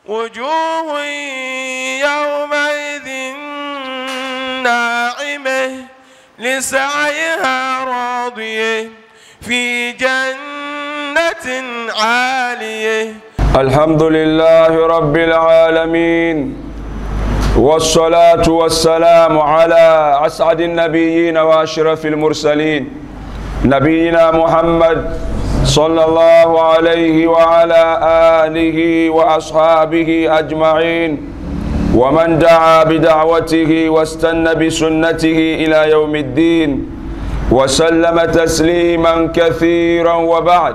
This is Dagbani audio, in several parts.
وجوه يومئذ ناعمة لسعيها راضية في جنة عالية. الحمد لله رب العالمين، والصلاة والسلام على أسعد النبيين وأشرف المرسلين، نبينا محمد صلى الله عليه وعلى آله وأصحابه أجمعين، ومن دعا بدعوته واستنى بسنته إلى يوم الدين وسلم تسليما كثيرا. وبعد،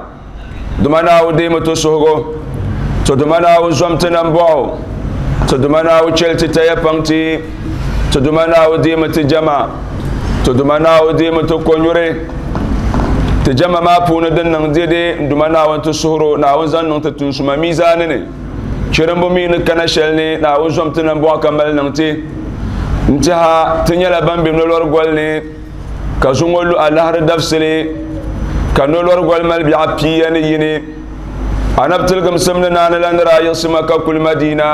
دمنا وديمة سهغو تدمنا وزمتنا بوعو تدمنا وشلت تيبانتي تدمنا وديمة جمع تدمنا وديمة كونيوري تجمع ما بونا دن ديدي دمنا وانت سهرو ناوزن ننت تنسما ميزانني شرمبو مين كنشلني ناوزمتنا بوع كمال ننتي انتها تنيلا بامبي نلور قولني كزونغولو الله ردفسلي كنولور قول مال بيعبياني يني أنا بتلقم سمنا نانا لان رايق سمكا كل مدينة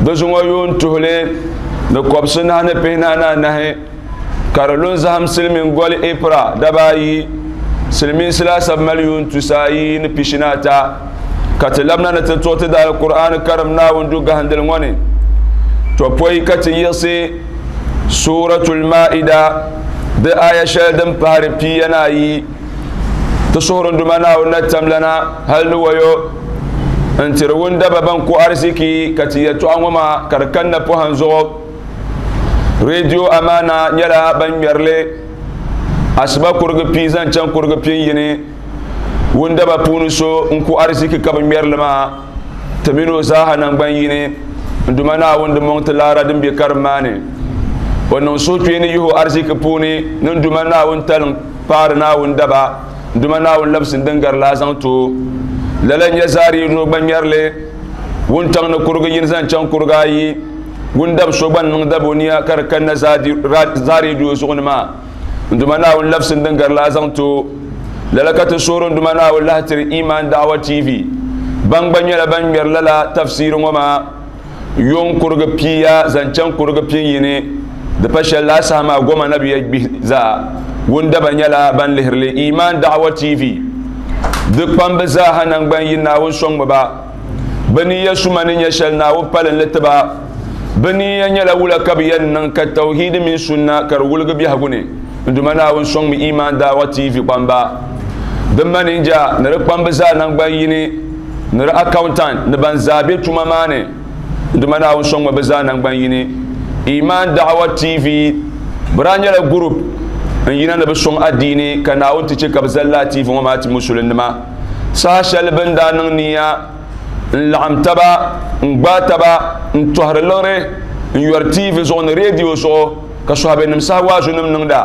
دزونغو يون تهلي نكوبسنا نبينا نهي كارلون زهم سلمين قول إبرا دباي سلمين سلاسة مليون تسايين بيشناتا كتلبنا نتتوت دا القرآن كرمنا وندوغ هندلوني توبوي كتيسي سورة المائدة دا آية شلدن بهار بياناي تصور دمنا ونتم لنا هل ويو انت رون دبا بانكو أرزيكي كتيتو أمما كركن بوهنزو راديو أمانة يلا بن يرلي أسباب كورغ بيزان چان كورغ بييني وندبا بونسو انكو أرزيكي كبن يرلما تمينو زاها نانبان دمنا وندمون تلارا دم بكرماني وننسو تيني يهو أرزيكي بوني نندمنا ونتلن بارنا وندبا دمنا ولبس دنگر لازم تو لالن يزاري نوبن يرلي ونتان كورغ ينزان چان كورغاي وندب شوبان ندبونيا كركن زاري دو سونما دمنا ولبس دنگر لازم تو لالكت سورون دمنا ولهتر ايمان دعوه تي في بان بان يلا بان يرلا تفسير وما يون كورغ بيا زان چان كورغ بييني دپشل لا سما غوما نبي بي وندبا nyɛla ban lihirili iman da'wa tv di kpambi zaaha nangban yi naawuni sɔŋmi ba bɛ niya suma ni nyɛ shɛli naawuni palin li tiba bɛ niya nyɛla wula ka bɛ yɛn niŋ ka tawhidi mini sunna ka di wuligi biɛhigu ni n-duma naawuni sɔŋmi iman da'wa tv kpamba di maninja ni di kpambi zaa nangban yini ni di accountant ni ban zaa be tuma maa ni n-duma naawuni sɔŋmi bɛ zaa nangban yini iman da'wa tv bɛ daa nyɛla group n yina ni bi sɔŋ adiini ka naawuni ti che ka bi zali laatiifi ŋɔ maa ti musulinima saha shɛli bin daa niŋ niya n laɣim taba n gbaai taba n tɔhiri liɣiri n yɔri tiivi zuɣu ni reediyo zuɣu ka sɔhabinim saha waazunim niŋda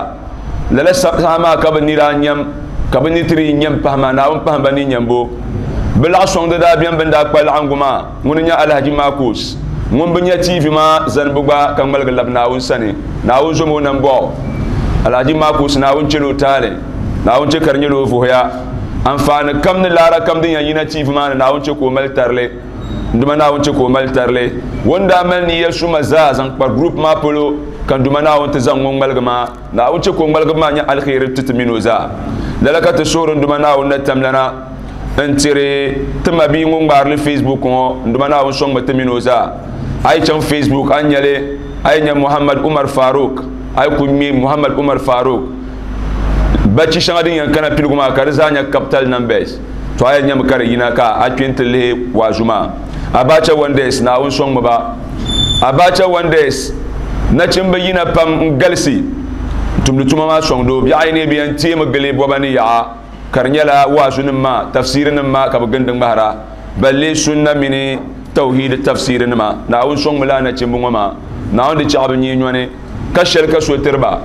lala saha maa ka bi ni daa nyam ka bi ni tiri nyam pahi maa naawuni pahi ba ni nyambo bi laɣ sɔŋdi daa bɛni bin daa kpa laɣingu maa ŋuni nyɛ Alhaji Marcus ŋun bi nyɛ tiivi maa zani bi gba ka ŋmaligi labi naawuni sani naawuni zom o nambɔɣu Alhaji Marcus naawuni chelo taali naawuni che ka di nyɛla o vuhiya anfaani kam ni laara kam din yɛn yina tiivi maa ni naawuni che ka o mali tarili nduma naawuni che ka o mali tarili ŋun daa mali niya suma zaa zaŋ kpa group maa polo ka nduma naawuni ti zaŋ ŋun ŋmaligi maa naawuni che ka o ŋmaligi maa nyɛ alheri ti ti mini o zaa lala ka ti suhuri nduma naawuni na tamlana n tiri ti ma bia ŋun ŋmaarili Facebook ŋɔ nduma naawuni sɔŋmi ti mini o zaa a yi chaŋ Facebook a ni nyɛli a yi nya Muhammad Umar Faruk ay ku ŋme Muhammad Umar Faruk bachi shɛŋa din yɛn kana piligu maa ka di zaa nyɛ capital numbers to a yɛn nyɛmi ka di yina ka a kpe n-ti lihi waazu maa Abacha Wonders naawuni sɔŋmi ba Abacha Wonders nachimbi yina pam n galisi tumdi tuma maa sɔŋdi o biɛɣu ayi ni bɛ yɛn teemi gili bɔba ni yaɣa ka di nyɛla waazunim maa tafsiirinim maa ka bɛ gindi ŋmahira balle sunna mini tawhid tafsiirinima naawuni sɔŋmi laa nachimbi ŋɔ maa naawuni di chaɣi bi nyee nyɔni ka shɛli ka so tiriba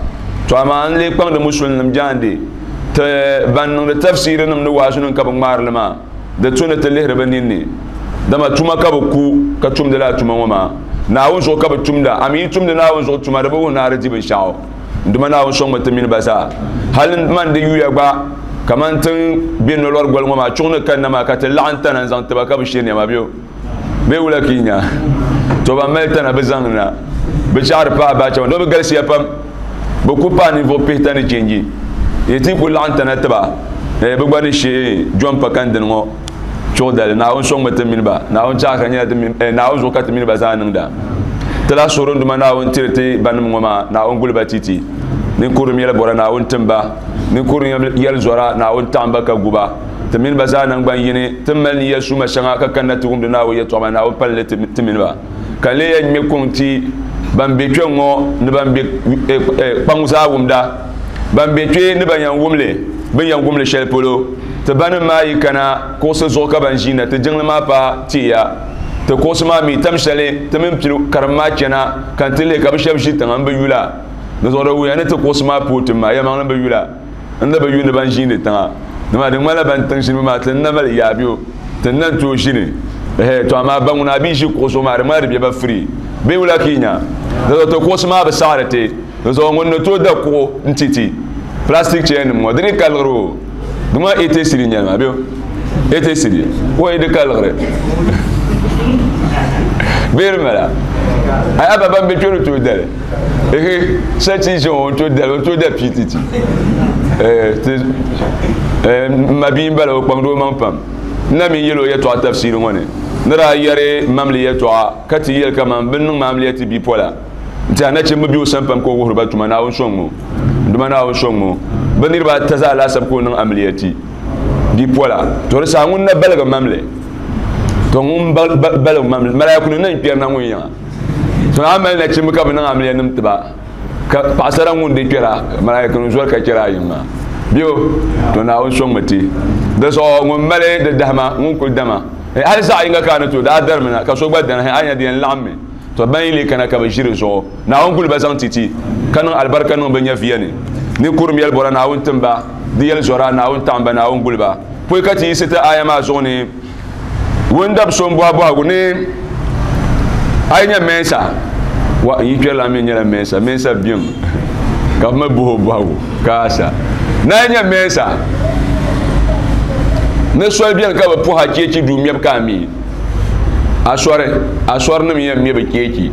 to amaa n lee kpaŋdi musulinim jaandi ti ban niŋdi tafsiirinim ni waazunim ka bi ŋmaarili maa di tu ni ti lihiri bi ninni dama tuma ka bi ku ka tumdi laa tuma ŋɔ maa naawuni zuɣu ka bi tumda ami yi tumdi naawuni zuɣu tuma di bi wuhi naari di binshaɣu nduma naawuni sɔŋmi ti mini ba zaa hali man di yuya gba kaman tiŋ be nolɔri goli ŋɔ maa chuɣu ni kanna maa ka ti laɣim tana n zaŋ tiba ka bi she nɛma bɛ o. Bee wula ka yi nya? To ban mali tana bɛ zaŋ na. Bɛ chaɣiri paai baacha maa. Doo bɛ galisiya pam. Bɛ ku paai ninvuɣ pihita ni chenji. Yi ti ku laɣim tana tiba, eh, bɛ gba ni shee Jɔn pa kani dini ŋɔ chuɣu dali. Naawuni sɔŋmi ti mini ba. Naawuni chaɣi ka nyɛla ti mini, eh, Naawuni zuɣu ka ti mini ba zaa niŋda. Ti lahi suhiri n Duuma Naawuni tiri ti banim ŋɔ maa, Naawuni guli ba titi. Ninkurim yɛli bɔra Naawuni tim ba. Ninkurim yɛli zɔra Naawuni taɣim ba ka gu ba. Ti mini ba zaa naŋgban yini, ti ni mali niya suma shɛŋa ka kanna ti wumdi Naawuni yɛtɔɣa maa, Naawuni pali li ti mini ba. Ka n lee yɛn ŋme kuŋ ti ban be kpe ŋ-ŋɔ ni ban be kpaŋ zaa wumda, ban be kpe ni ban yɛn wum li, bɛ ni yɛn wum li shɛli polo. Ti banim maa yi kana kuɣusi zuɣu ka ban ʒiinda ti jiŋli maa paai teeya. Ti kuɣusi maa mi tam shɛli ti mini pili karim maa chana ka n ti lihi ka bɛ shɛba ʒi tiŋa m-bi yula. Di zuɣu di wuhiya ni ti kuɣusi maa pooi tim maa, yɛlimaŋli m-bi yula. N ni bi yu ni ban ʒiindi tiŋa dama di ŋmanila ban tiŋ ʒinibu maa ti ni na mali yaa bɛ ti ni na n-tooi ʒini. Ɛhɛ, tɔ amaa ba ŋuna a bi ʒi kuɣu zuɣu maa di ŋmanila di be ba free bee wula ka yi nya? Di zuɣu ti kuɣusi maa bi saɣiri ti. Di zuɣu ŋun ni tooi da kuɣu n-ti ti plastic chair nim ŋɔ di ni ka liɣiri o. Di ŋmanila 80 cedi n-nyɛli maa bee 80 cedi wai di ka liɣiri bee di mala? Ayi a ba ban be kpe ni tooi dali. Ehe, sachi ʒe o to dali, o to da PTT. Eh, ti eh, ma bia m-bala o kpaŋdi o maŋ pam. N na mi yɛl o yɛtɔɣa tafsiiri ŋɔ ni. Ni daa yɛri mamli yɛtɔɣa ka ti yɛli kaman bɛ ni niŋ ma amiliya ti bipola. N-ti a nachimba be o sani pam ka o wuhiri ba tuma, Naawuni sɔŋmi o. N Duuma Naawuni sɔŋmi o. Bɛ niriba ata zaa laasabu ka o niŋ amiliya ti bipola. To di saha ŋun na baligi mamli. To ŋun baligi mamli, malaaikunim na n-kpɛrina ŋun yiŋa. To a mali nachimba ka bɛ niŋ amiliya nim tiba ka paɣasara ŋun di kpɛra malaika nim zoli ka kpɛra a yiŋ maa bɛ to Naawuni sɔŋmi ti di zuɣu ŋun mali di dahima ŋun kuli dama hali zaɣ yinga ka a ni tooi daa darimi na ka so gba dana a nya di yɛn laɣimmi to ban yi lee kana ka bɛ ʒi di zuɣu Naawuni guli ba zaŋ ti ti ka niŋ alibarika niŋ bɛ nyɛviya ni ni kurim yɛli bɔra Naawuni tim ba di yɛli zɔra Naawuni taɣim ba Naawuni guli ba pɔi ka ti yiɣisi ti aya maa zuɣu ni Wundab so m-bɔhi bɔhigu ni a yi nya Mɛnsa, wa n yi kpɛrila mi nyɛla Mɛnsa, Mɛnsa biɛm ka bɛ mi bɔhi o bɔhigu ka a sa. Ni a yi nya Mɛnsa, ni soli beni ka bɛ puhi a cheechi duu mɛbu ka a mi asɔri, asɔrinim yɛn me bɛ cheechi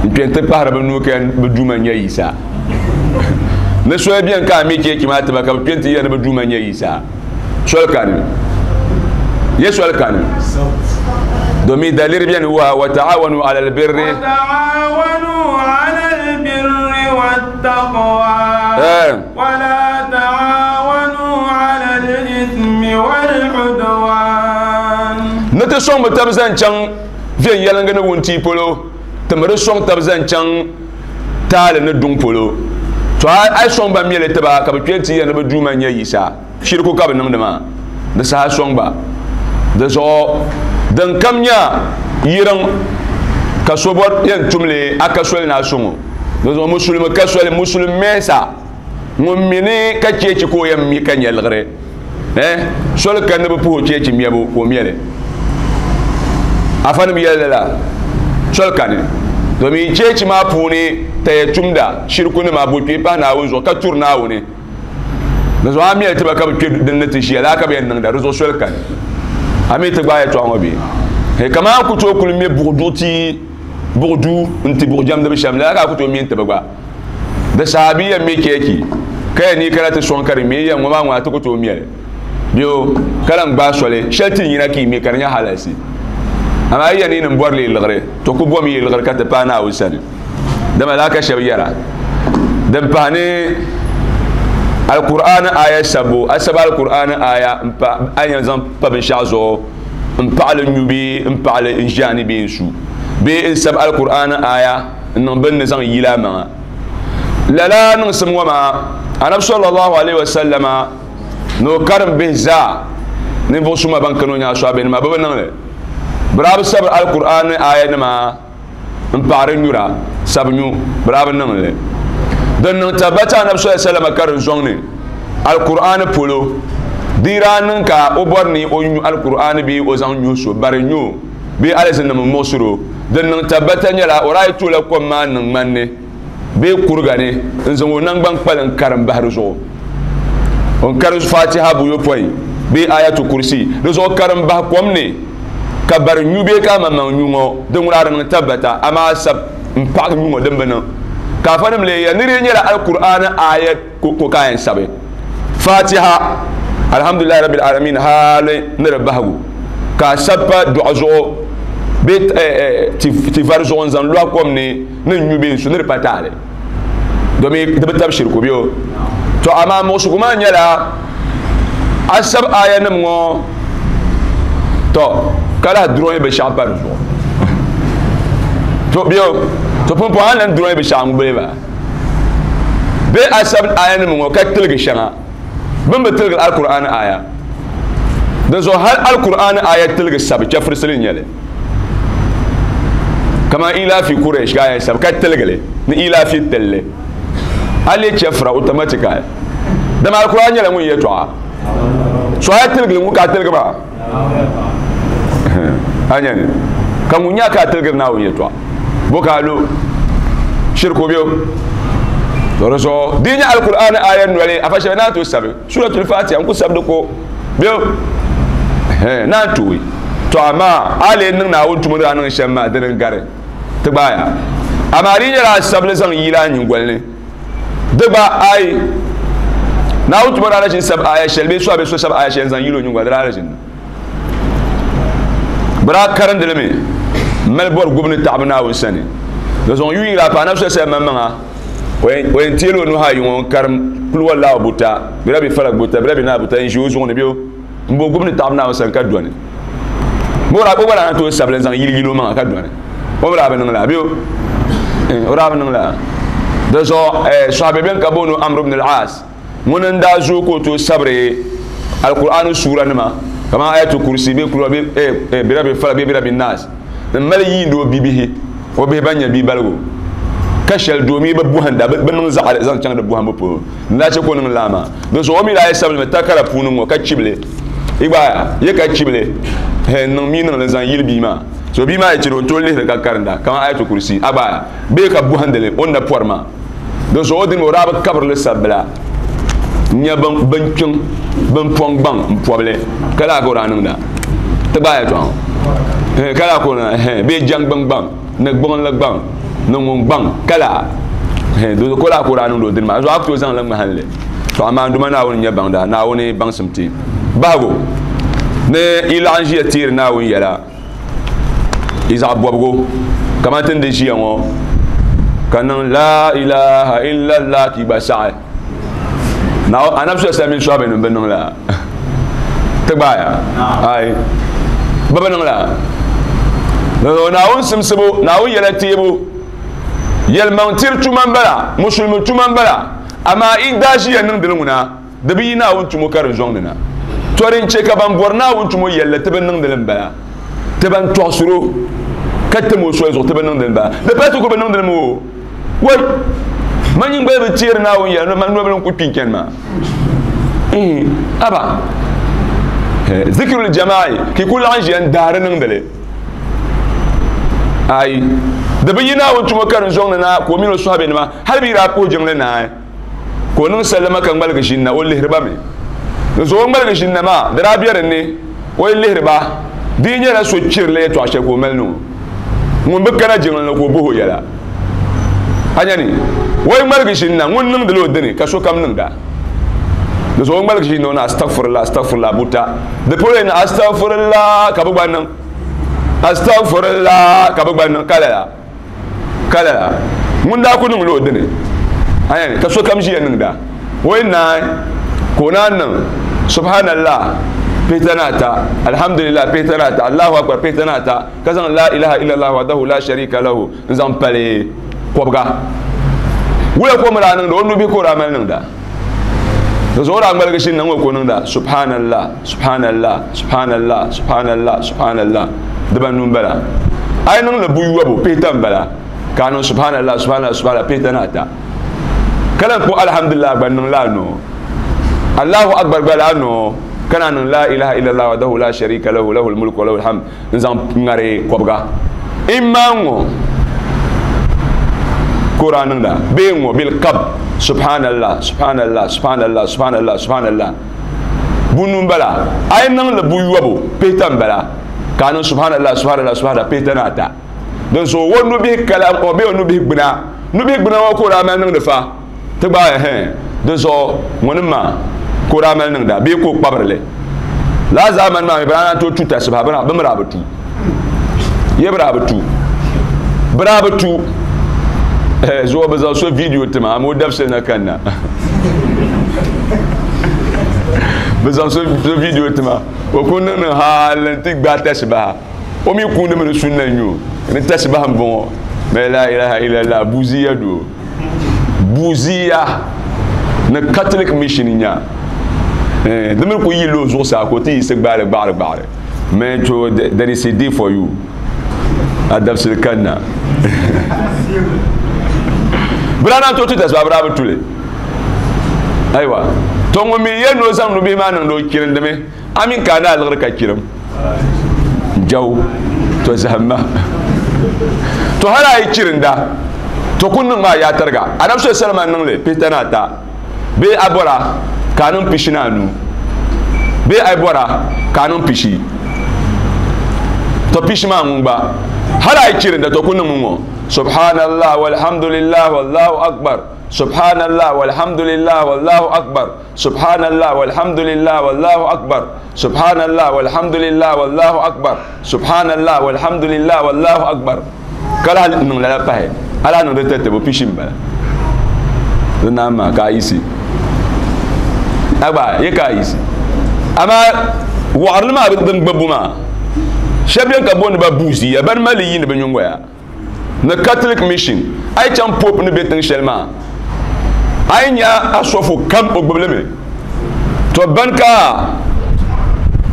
n-kpe nti pahiri bɛ nuu ka bɛ duuma n-nyɛ Yisa. Ni soli beni ka a mi cheechi maa ti ba ka bɛ kpe nti yɛli ni bɛ duuma n-nyɛ Yisa. Soli kani ye soli kani domin daliri beni wa wa ta'awanu ala albirri wa ta'awanu ala albirri wattaqwa wa la ta'awanu ala al-ithmi wal udwan. Ni ti sɔŋ bi tab zaŋ chaŋ viɛnyɛliŋga ni wuntia polo, ti mi di sɔŋ tab zaŋ chaŋ taali ni duŋ polo. To a yi sɔŋ ba meli tiba ka bɛ kpe nti yɛli ni bɛ Duuma n-nyɛ Yisa, shiriku ka bɛ niŋdi maa. Di saha sɔŋ ba. Di zuɣu din kam nya yiriŋ ka so bɔri yɛn tum li, a ka soli ni a sɔŋ o. Di zuɣu musulimi ka soli, musulim mɛnsa ŋun mi ni ka cheechi ka o yɛn mi ka nya liɣiri. Eh, soli ka ni bɛ puhi o cheechi mɛbu ka o mɛli. Afanim yɛli lala, soli kani. Domin cheechi maa puuni taya tumda, shirikunima, bo kpee pahi Naawuni zuɣu ka turi Naawuni. Di zuɣu a mɛli tiba ka bɛ kpe din ni ti ʒiya, laa ka bɛ yɛn niŋda, di zuɣu soli kani. A mi ti gbaai yɛtɔɣa ŋɔ bee? He, kaman a ku tooi kuli me buɣ duɣu ti buɣ duu n-ti buɣ jɛmdiba shɛm, lala ka a ku tooi me n-ti bɛ gba. Di saha bɛ yɛn me cheechi ka yɛn ni kana ti sɔŋ ka di me yɛn ŋɔ maa ŋuna ti ku tooi mɛli bɛ o ka lan gbaai soli shɛli ti yina ka yi me ka di nyɛ halalsi. Amaa yi yɛn ni yi ni bɔri li liɣiri, to ku bom yi liɣiri ka ti paai Naawuni sani. Dama lala ka shɛba yɛra. Din pahi ni Alkur'aani aaya sabbu, a sabi Alkur'aani aaya m-pa a yɛn zaŋ pa binshɛɣu zuɣu m-paɣi li nyu bee m-paɣi li n-ʒi a ni bee n-su bee n-sabi Alkur'aani aaya n-niŋ bɛ ni zaŋ yila a maŋa. Lala niŋsim ŋɔ maa, Anabi sallallahu alaihi wasallama ni o karim bihi zaa, ninvuɣ suma ban kani o nyaansi a bɛ nima, bɛ bi niŋ li. Bɛ daa bi sabiri Alkur'aani aayanima m-paɣiri nyura, sabi nyu, bɛ daa bi niŋ li. Din niŋ tabbata Anabi sallallahu alaihi wasallama karim zɔŋ ni Alkur'aani polo, di daa niŋ ka o bɔri ni o nyu Alkur'aani bee o zaŋ nyuhi so bari nyu o bee alizinnim m-muɣisiri o. Din niŋ tabbata nyɛla o daa yi toola kom maa niŋ ŋmani ni bee kuriga ni n-zaŋ o naŋgban kpali n-karim bahi di zuɣu. O ni karim Fatiha buyopɔin bee Ayatu Kursi di zuɣu karim bahi kom ni. Ka bari nyu bee ka amaŋmaŋ nyu ŋɔ din ŋuna di niŋ tabbata, amaa sab m-paɣigi nyu ŋɔ din bi niŋ. Ka afanim lee yɛli ni di nyɛla Alkur'aani aaya ko ka a yɛn sabi Fatiha, Alhamdulillahi Rabbil Alamin hali ni di bahigu, ka a sabi pa dɔɣu zuɣu bee ti vari zuɣu n-zaŋ lɔhi kom ni ni n-nyu bee n-su ni di pa taali domi di bi tabi shiriku bee o. To amaa muɣisigu maa nyɛla a sabi aayanim ŋɔ to ka lahi durɔyi binshɛɣu pa di zuɣu. To bee o, to pumpɔŋɔ a ni lan durɔyi binshɛɣu ŋubili maa bee a sabi aayanim ŋɔ ka tiligi shɛŋa bɛ ni bi tiligi Alkur'aani aaya. Dinzuɣu hali Alkur'aani aaya tiligi sabi chɛfurisili n-nyɛ li. Kaman Ilafi Quraysh ka a yɛn sabi ka tiligi li ni Ilafi tilli. A leei chɛfura automatically. Dama Alkur'aan nyɛla ŋun yɛtɔɣa. So a yi tiligi li ŋun ka a tiligi maa. A nya ni ka ŋun nya ka a tiligiri Naawuni yɛtɔɣa. Bo ka a lu shiriku bɛ o. To di zuɣu di yi nyɛ Alkur'aan aaya noli afa shɛli naan tooi sabi Suratul Fatiha n ku sabi di ko bɛ o. Naan tooi. To amaa a lee niŋ Naawuni tuma ni daa niŋ shɛm maa dini n-gari ti gbaaya. Amaa di yi nyɛla a sabili zaŋ yili a nyiŋgoli ni di gba ayi Naawuni tuma daa na ʒini sabi aaya shɛli bee so a bee so sabi aaya shɛli n-zaŋ yili o nyiŋgoli di daa na ʒini. Bɛ daa karindi li mi m-mali bɔri gubu ni taɣibu Naawuni sani. Di zuɣu yuun yiri a paai Anabi sallallahu alaihi wasallam maŋmaŋa, o yɛn teeli o nuhi ayi ŋɔ n-karim kul wallahu buta, birabi falak buta, birabi naa buta n-ʒi o zuɣu ni bɛ o m-bo gubu ni taɣibu Naawuni sani ka dɔni. Bɛ o daa gba daa na tooi sabili n-zaŋ yili yili o maŋa ka dɔni. O mi daa bi niŋ lala bɛ o? O daa bi niŋ lala. Di zuɣu sɔhibe bɛn ka booni o Amr ibn al-As Ŋuni n-daa zooi ka o tooi sabiri Alkur'aani suuranima kamani Ayatul Kursi bee Kul huwa birabi falak bee birabi naas m-mali yiindi o bibihi, o bihi ban nyɛ bibaligu ka shɛli doomi bi bɔhinda, bɛ niŋ zaɣili zaŋ chaŋ di bɔhimbu polo n-daa che ka o niŋ lala maa. Di zuɣu o mi daa yi sabili mi takara puuni ŋ-ŋɔ ka chibi li, yi gba ye ka chibi li n-niŋ mii niŋ li n-zaŋ yili bia maa. So bia maa yi chani o ni tooi lihiri ka karinda kamani Ayatul Kursi a gba bee ka bɔhindi li o ni na pɔri maa. Di zuɣu dini o daa bi kabiri li sabila n-nyɛ bin kpiŋ bin pɔŋ gbaŋ m-pɔbi li ka laa ka o daa niŋda ti gbaai yɛtɔɣa ŋɔ ka laa ka o niŋda bee jaŋgbuni gbaŋ ni gbuɣinli gbaŋ ni ŋun gbaŋ ka laa di zuɣu ka laa ka o daa niŋdi o dini maa di zuɣu a ku tooi zaŋ li ŋmahin li to amaa n Duuma Naawuni n-nyɛ baŋda Naawuni baŋsim ti bahigu ni yi laɣim ʒiya teeri Naawuni yɛla yi zaɣ bɔbigu kamani ti ni di ʒiya ŋɔ ka niŋ la ilaha illallah ka yi gba saɣi anabi sallallahu alaihi wasallam mini bi niŋ la ti gbaaya ayi bi bi niŋ la Naawuni simsibu Naawuni yɛla teebu yɛlimaŋ tiri tuma n bala musulimi tuma n bala amaa i daa ʒiya niŋdili ŋuna Di bi yi Naawuni tumo ka di zɔŋ ni na. Tɔ din chɛ ka ban bɔri Naawuni tumo yɛli li ti bi niŋdi li m-bala. Ti ban tɔɣisir o ka tim o soli zuɣu ti bi niŋdi li m-bala. Di pala ti ku bi niŋdi li mi o. Wai! Man nyiŋgoli bi teeri Naawuni yɛla, man nobili n-ku kpi n-chani maa. Ihi, aba! Zikirul jama'i, ka yi ku laɣim ʒiya n-daari niŋdi li. Ayi! Di bi yi Naawuni tumo ka di zɔŋ ni na ka o mini o sɔhibenima hali bɛ yi daa puhi jiŋli naai. Ka o niŋ sallama ka ŋmaligi ʒini na, o lihiri ba mi. Di zuɣu o ŋmaligi ʒini na maa, di daa be din ni o yi lihiri ba, di yi nyɛla so chirila yɛtɔɣ shɛli ka o mali niŋ o, ŋun bi kana jiŋli ni ka o bɔh o yɛla. A nya ni o yi ŋmaligi ʒini na, ŋun niŋdila o dini ka sokam niŋda. Di zuɣu o ŋmaligi ʒini na o ni astagfirullah, astagfirullah buta. Di polo yi ni astagfirullah ka bɛ gba niŋ, astagfirullah ka bɛ gba niŋ ka lala. Ka lala ŋun daa ku niŋla o dini, ayan, ka sokam ʒiya niŋda. O yi naai ka o naan niŋ Subhanallah pihita ni ata, Alhamdulillah pihita ni ata, Allahu Akbar pihita ni ata, ka zaŋ La ilaha illallah wahdahu la sharika lahu n-zaŋ pali kɔbiga. Wula ka o mi daa niŋda? O nubihi ka o daa mali niŋda. Di zuɣu o daa ŋmaligi shini na ŋ-ŋɔ ka o niŋda Subhanallah, Subhanallah, Subhanallah, Subhanallah, Subhanallah. Dibanu m-bala. A yi niŋ li buyɔbu, pihita m-bala, ka a niŋ Subhanallah, Subhanallah, Subhanallah pihita ni ata. Ka lan kpuɣi Alhamdulillah gba n-niŋ la noo. Allahu Akbar gba la noo, ka naan niŋ La ilaha illallah wahdahu la sharika lahu, lahul mulku wa lahul hamd n-zaŋ ŋari kɔbiga. Imma ŋ-ŋɔ ka o daa niŋda bee ŋ-ŋɔ bil qabd, Subhanallah, Subhanallah, Subhanallah, Subhanallah, Subhanallah. Bunu m-bala. A yi niŋ li buyɔbu, pihita m-bala. Ka niŋ subhanallah subhanallah subhanallah pihita ni ata. Din zuɣu o nubihi kala o bee o nubihi gbuna. Nubihi gbuna ŋɔ ka o daa mali niŋdi fa. Ti gbaai hɛn. Di zuɣu ŋuni maa ka o daa mali niŋda bee ka o kpabiri li. Lala zaamani maa mi bɛ daa naan tooi tu tasibaha bɛ mi daa bi tu. Ye bɛ daa bi tu. Bɛ daa bi tu. Zuɣu bɛ zaŋ so video ti ma, ama o dabisili na kanna. Bɛ zaŋ so video ti ma, o ku niŋ niŋ hali n-ti gbaai tasibaha. O mi kuuni mi ni sunna n-nyɛ o. Ni tasibaha m-bɔŋɔ. Mɛ la ilaha illallah, buziya doo. Buziya ni Catholic mission nya. Di mi ku yi lo zuɣusaa ka o ti yiɣisi gbaali gbaɣiri gbaɣiri. Mɛ to there is a day for you. A dabisili kanna. Bɛ daa naan tooi ti tasibaha bɛ daa bi tuli. Ayiwa. To ŋun mi yɛn ni o zaŋ nubihi maa niŋdi o kirindimi, a mini ka a ni a liɣiri ka chirim. Jaw, to zahimma. To hali a yi chirinda, to ku niŋ maa yaa tariga. Anabi sallallahu alaihi wasallam niŋ li pihita ni ata, bee a bɔra ka a niŋ pishi ni anu, bee a yi bɔra ka a niŋ pishi. To pishi maa ŋun gba, hali a yi chirinda, to ku niŋmi ŋɔ. Subhanallah walhamdulillah wallahu akbar. Subhanallah walhamdulillah wallahu akbar. Subhanallah walhamdulillah wallahu akbar. Subhanallah walhamdulillah wallahu akbar. Subhanallah walhamdulillah wallahu akbar. Ka lahi niŋ lala pahi. A lahi niŋ di tatabo pishi m-bala. Di naan maa ka a yiɣisi. A gba ye ka a yiɣisi. Amaa waɣirili maa din gbubbu maa, shɛba beni ka booni ba buuziya, bani mali li yiini bɛ nyingoya. Ni Catholic mission, a yi chaŋ Pope ni be tiŋ shɛli maa, a yi nya asɔfo kam o gbubi li mi. To bani ka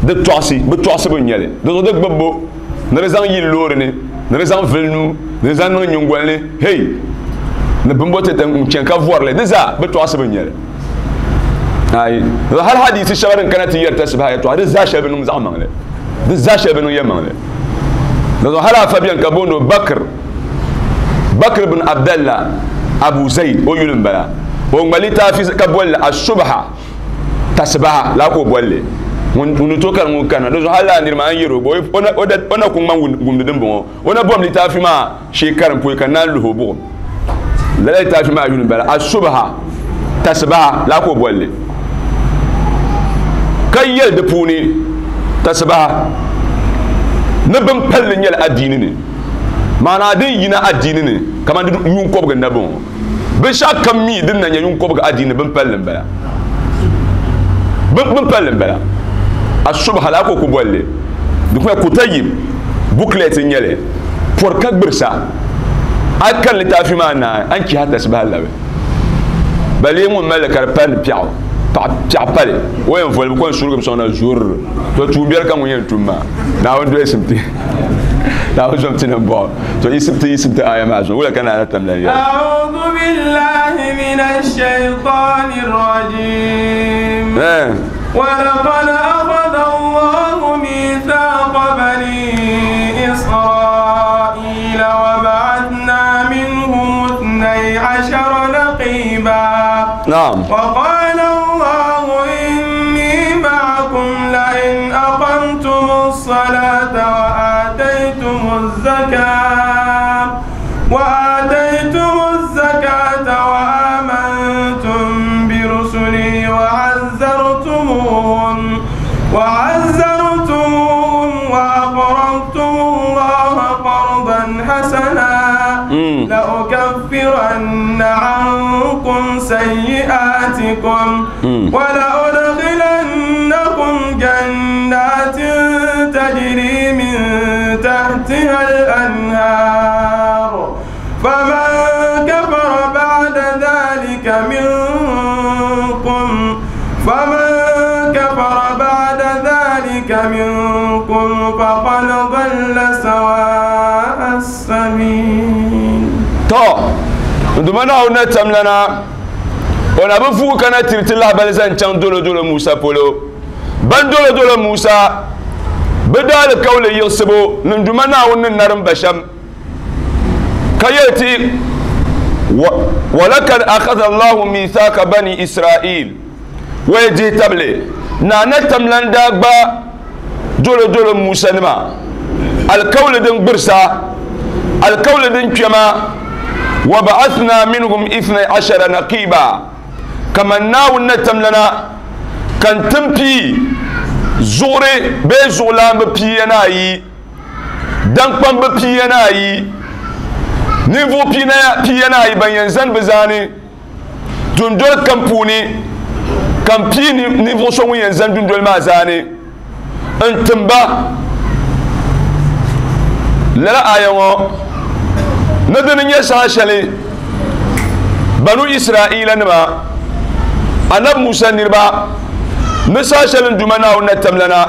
di tɔɣisi, bɛ tɔɣisibu n-nyɛ li. Di zuɣu di gbubbu ni di zaŋ yili loori ni, ni di zaŋ vili nuu, ni di zaŋ niŋ nyingoli ni, hey, ni bimbo ti n-chani ka vɔri li, di zaa bɛ tɔɣisibu n-nyɛ li. Ayi, hali hadiisi shɛŋa din kana ti yɛri tasibaha yɛtɔɣa, di zaa shɛli bi niŋ zaɣ maŋli. Di zaa shɛli bi niŋ yɛlimaŋli. Di zuɣu hali afa beni ka booni o Bakr, Bakr bin Abdallah Abu Zaid, o yuli m-bala. O ŋma litaafi ka boli li As-Subha, tasibaha laa ka o boli li. Ŋun ni tooi kari ŋun kanna. Di zuɣu hali lala niri maa n yɛri o gba, o na ku ŋma wumdi dimbɔŋɔ. O na bom litaafi maa shee karim pɔi ka naan luhi o buɣim. Lala litaafi maa yuli m-bala As-Subha, tasibaha laa ka o boli li. Ka yɛli di puuni tasibaha ni bin palli nyɛla adiini ni, maanaa din yina adiini ni kamani di yuun kɔbigi n-na bɔŋɔ. Binshɛɣu kam mi din na nyɛ yuun kɔbigi adiini bin palli m-bala. Bin palli m-bala. As-Subha laa ka o ku boli li. Di kuma Kutayib booklet n-nyɛ li. Pɔri ka gbirisa. A yi kani litaafi maa naai, a ni chihi a tasibaha labi. Ba lee ŋun mali li ka di pali ni piɛɣu, paɣa piɛɣu pali, o yɛn voli bi ko n-surigim sɔŋ na zurr. To tuumbiɛli ka ŋun yɛn tum maa. Naawuni dolsim ti. Naawuni zom ti nimbɔɣu. To yiɣisim ti yiɣisim ti aaya maa zuɣu. Wula ka Naa Tam lan yɛli? أعوذ بالله من الشيطان الرجيم. ولقد أخذ الله ميثاق بني إسرائيل وبعثنا منهم 12 نقيبا. وقال الله إني معكم لئن أقمتم الصلاة وآتيتم الزكاة وآمنتم برسلي وعزرتموهم وأقرضتم الله قرضا حسنا لأكفرن عنكم سيئاتكم ولأدخلنكم جنات تجري من تحتها الأنهار فمن كفر بعد ذلك منكم فقد ضل سواء السبيل. تو ndumana ona tamlana ona bi fugu kana tiriti lahabali zaŋ chaŋ dolo dolo Musa polo. Ban dolo dolo Musa bɛ daa alikauli yiɣisibu ni nduma Naawuni ni narim ba shɛm ka yɛli ti walakad akhadha Allahu mithaka bani Israil wa dihi tabili naana tamlan daa gba dolo dolo Musa nima Alikauli din gbirisa, alikauli din kpɛma, wa ba'athna minhum ithnay ashara naqiba, kaman Naawuni na tamlana ka n tim pii zuɣuri bee zuɣulaanbi pia ni ayi, daŋkpambi pia ni ayi, ninvuɣ pia ni ayi ban yɛn zani bɛ zaani dundoli kam puuni, ka n pii ninvuɣ so ŋun yɛn zani dundoli maa zaani n tim ba. Lala aya ŋɔ ni dini nyɛ saha shɛli Banu Israila nima, Anabi Musa niriba, ni saha shɛli n Duuma Naawuni na tamlana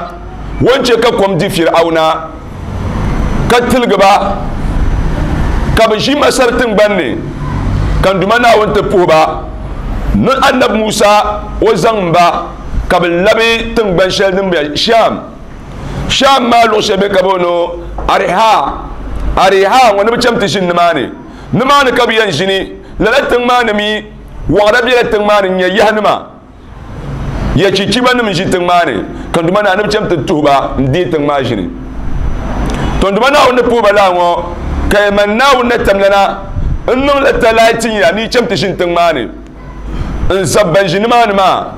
o ni chɛ ka kom di Fir'auna ka tiligi ba ka bɛ ʒi Masar tiŋgbani ni, ka n Duuma Naawuni ti puhi ba ni Anabi Musa o zaŋ ba ka bɛ labi tiŋgbani shɛli din be Sham. Sham maa luɣ shɛli bɛ ka booni Ariha. Ariha ŋɔ ni bɛ cham ti ʒini nimaani. Nimaani ka bɛ yɛn ʒini. Lala tiŋ maa ni mi, wɔɣira bela tiŋ maa ni n-nyɛ yahinima. Ya chichibanim n-ʒi tiŋ maa ni, ka n Duuma Naawuni ni bɛ cham ti tuhi ba n-deei tiŋ maa ʒini. Tɔ n Duuma Naawuni ni puhi ba lala ŋɔ, ka ya man Naawuni na tamlana n-niŋ la talahi tin ya ni yi cham ti ʒini tiŋ maa ni n-zab ban ʒi nimaani maa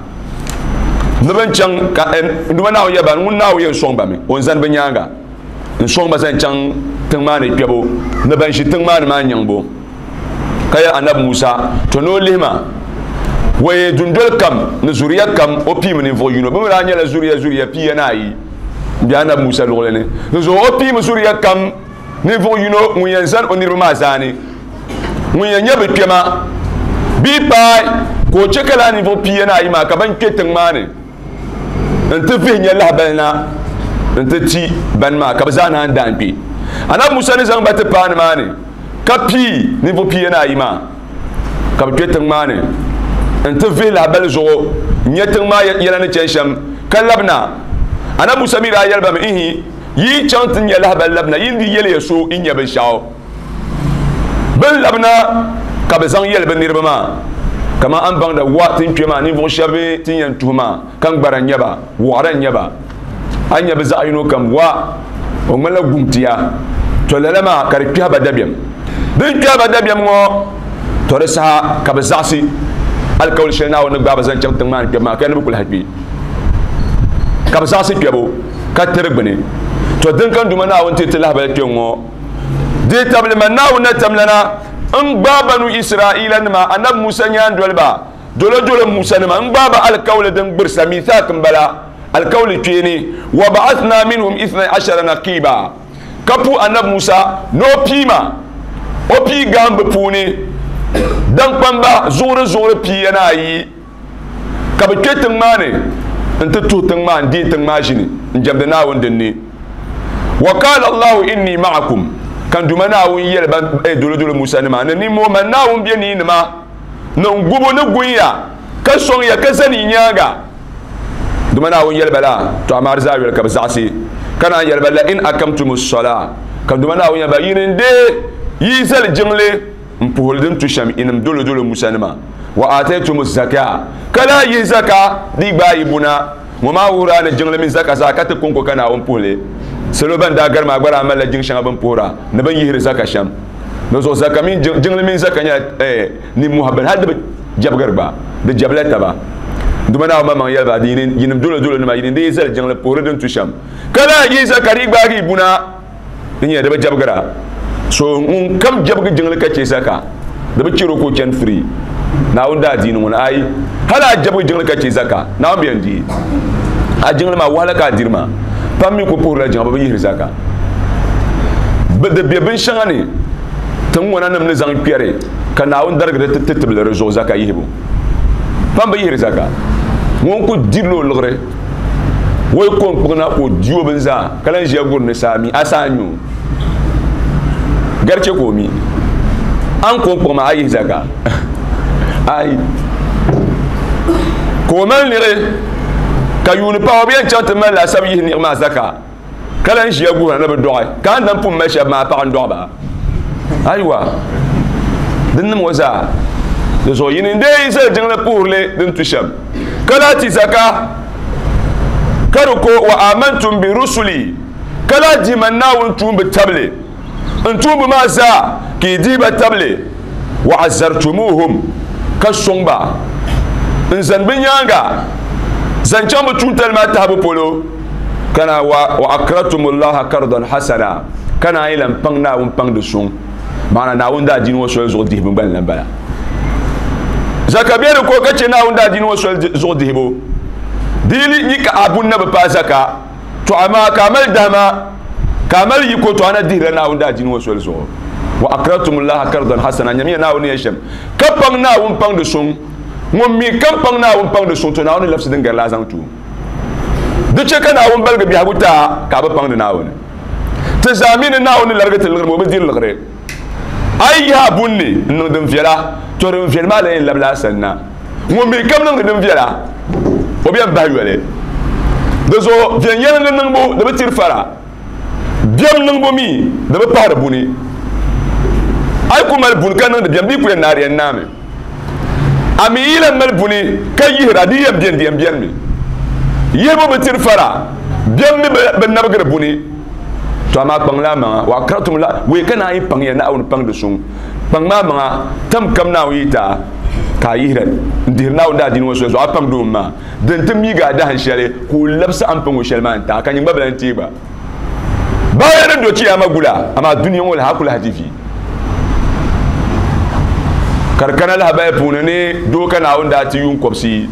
ni bɛ ni chaŋ ka n Duuma Naawuni yɛli ba ni ŋun Naawuni yɛn sɔŋ ba mi, o ni zani bɛ nyaaŋa n-sɔŋ ba zaŋ chaŋ tiŋ maa ni kpɛbu ni ban ʒi tiŋ maa ni maa nyaŋbu. Ka yɛli Anabi Musa, Tɔ ni o lihi ma, wee dundoli kam ni zuriya kam o piimi ninvuɣ yino. Bɛ mi daa nyɛla zuriya zuriya 42 m-be Anabi Musa luɣili ni. Di zuɣu o piimi zuriya kam ninvuɣ yino ŋun yɛn zani o niriba maa zaani, ŋun yɛn nyɛ bɛ kpɛma bee paai, ka o chɛ ka lala ninvuɣ 42 maa ka bɛn kpe tiŋ maa ni nti vihi nya lahibali na nti ti bani maa, ka bɛ zaa naan daan kpe. Anabi Musa ni zaŋ ba ti paai nimaani ka pii ninvuɣ 42 maa ka bɛ kpe tiŋ maa ni nti vihi lahibali zuɣu n-nya tiŋ maa yɛla ni chani shɛm ka labina. Anabi Musa mi daa yɛli ba mi, Ihi, yi yi chaŋ ti nya lahibali labina, yi ni di yɛliya so yi nya binshɛɣu. Bɛ ni labina ka bɛ zaŋ yɛli bɛ niriba maa, kaman a ni baŋda wa ti ni kpe maa, ninvuɣ shɛba ti ni yɛn tuhi maa, ka n gbara n-nyɛ ba, wɔɣira n-nyɛ ba. A ni nya bɛ zaɣ yino kam wa, o ŋmanila guŋtia. Tɔ lala maa ka di kpɛhi ba dabiɛm. Di ni kpɛhi ba dabiɛm ŋɔ, tɔ di saha ka bɛ zaɣisi alikauli shɛli Naawuni ni gbaai ba zaŋ chaŋ tiŋ maa ni kpɛbu maa, ka yɛli ni bɛ ku lahi kpi. Ka bɛ zaɣisi kpɛbu ka tiri gbini. Tɔ din ka n Duuma Naawuni ti ti lahibali kpe ŋ-ŋɔ, Di tabili ma Naawuni na tamlana n-gbaai Banu Israailanima, Anabi Musa nyaandoliba, dolodolo Musanima, n-gbaai ba alikauli din gbirisa, Mithaq m-bala, alikauli kpeeni, Wa ba'athna minhum ithnay ashara naqiba, ka puhi Anabi Musa ni o pii ma, o pii gaambi puuni daŋkpamba zuɣuri zuɣuri 42. Ka bɛ kpe tiŋ maa ni nti tuhi tiŋ maa n-deei tiŋ maa ʒini n-jɛmdi Naawuni din ni. Wa qaala Allahu inni ma'akum, ka n Duuma Naawuni yɛli ba, eh, dolodolo Musa nima, ni nimmoo man Naawuni be ni nima, ni n gubu ni gun ya, ka sɔŋ ya, ka zani yi nyaaŋa. Duuma Naawuni yɛli ba la, tɔ amaa di zaa yoli ka bɛ zaɣisi, ka naan yɛli ba, la in akamtumu s-salaa, ka n Duuma Naawuni yɛli ba, yi ni n-deei yi zali jiŋli, M puhiri din tu shɛm yinim dolodolo Musanima, wa aataytumu zaka, ka lahi yihi zaka di gbaai yi buna. Ŋɔ maa wuhiri a ni jiŋli mini zaka zaa ka ti kɔŋko ka Naawuni puhi li. Salo ban daa gari maa gba daa malila jiŋ shɛŋa bɛ ni puhira ni bɛ ni yihiri zaka shɛm. Di zuɣu zaka mini jiŋli mini zaka nyɛla nimmohi bini hali di bi jɛbigiri gba, di jɛbila taba. Duuma Naawuni maŋmaŋ yɛli ba, Yinim dolodolonima, yinim di yi zali jiŋli puhiri din tu shɛm, ka lahi yihi zaka di gbaagi yi buna. Di nyɛla di bi jɛbigira. So ŋun kam jɛbigi jiŋli ka chɛ zaka, di bi chɛr o ka o chani free. Naawuni daa diini ŋuni ayi. Hali a jɛbigi jiŋli ka chɛ zaka, Naawuni bi yɛn deei a jiŋli maa, wahala ka a diri maa. Pam mi ku puhirila jiŋa, bɛ bi yihiri zaka. Bɛ di be binshɛŋa ni tiŋ ŋɔna nim ni zaŋ kpɛri ka Naawuni darigiri ti tibili di zuɣu zaka yihibu. Pam bi yihiri zaka. Ŋun ku dirila o liɣiri. O yi ko n-kpuɣi na ka o di o bini zaa ka lan ʒiya guri ni saa mi, a saa n-nyɛ o. Gari chɛ ka o mi. A ni ko n-kpuɣi maa, a yihi zaka? Ayi. Ka o mali niɣi ka yuuni pahi o bi yɛn chaŋ ti mali laasabu yihi niɣi maa zaka ka lan ʒiya guhira ni bɛ dɔɣi ka a ni dan pun mali shɛba maa paɣa n-dɔɣi ba. Ayiwa, din nim ŋɔ zaa di zuɣu yini n-deei yi zali jiŋli puhirili din tu shɛm, ka lahi ti zaka, ka di ko wa amantum bi rusuli, Ka lahi dihi man Naawuni tuumba tabili, n tuumba maa zaa ka yi dihi ba tabili. Wa azartumuhum, ka sɔŋ ba n-zani bɛ nyaaŋa zaŋ chaŋ bɛ tuuntali maa tahibu polo. Ka wa akratumulaha kardan hasana, ka naan yi lan paŋ Naawuni paŋdi suŋ. Maana Naawuni daadiini ŋɔ soli zuɣu dihibu gba n-lan bala. Zaka be di ko ka chɛ Naawuni daadiini ŋɔ soli zuɣu dihibu. Di yi li ka a buni na bi paai zaka, to amaa ka a mali dahima, ka a mali yiko, to a na dihirila Naawuni daadiini ŋɔ soli zuɣu. Wa akratumulaha kardan hasana, nyamiya Naawuni ni yɛli shɛm, ka paŋ Naawuni paŋdi suŋ. Ŋun mi kam paŋ Naawuni paŋdi suŋ, to Naawuni ni labisi din gari la a zaŋ ti o. Di chɛ ka Naawuni baligi biɛhigu ti a ka a bi paŋdi Naawuni. Ti zaa mi ni Naawuni ni larigi ti liɣiri mi, o bi diri liɣiri. A yi yihi a buni ni n-niŋ din viɛla, to din viɛli maa lan yɛn labila a sanna. Ŋun mi kam niŋdi din viɛla, o bi yɛn bahi yoli. Di zuɣu viɛnyɛliŋga niŋbu di bi tiri fara, biɛm niŋbu mi di bi pahiri buni. A yi ku mali buni ka niŋdi biɛm, di yi ku yɛn naai di yɛn naami. A mi yi lan mali buni ka yihira, di yɛn beni, di yɛn benimi. Yihibu bi tiri fara, biɛm mi bi nabigiri buni. To amaa kpaŋla a maŋa, wa akratum la, wei ka naan yi paŋ ya Naawuni paŋdi suŋ. Kpaŋ maa maŋa, tam kam Naawuni yi ti a, ka a yihira n-dihiri Naawuni daadiini ŋɔ soli zuɣu, a paŋdi o mi maa, din ti miigi a dahin shɛli, ka o labisi a ni paŋ o shɛli maa n-ti a, ka nyin gba bi lan teei gba. Baaya ni do chiyaama gula, amaa dunia ŋɔ lahi a ku lahi di vi. Ka di kana lahabaya puuni ni doo ka Naawuni daa ti yuun kɔbisiyi,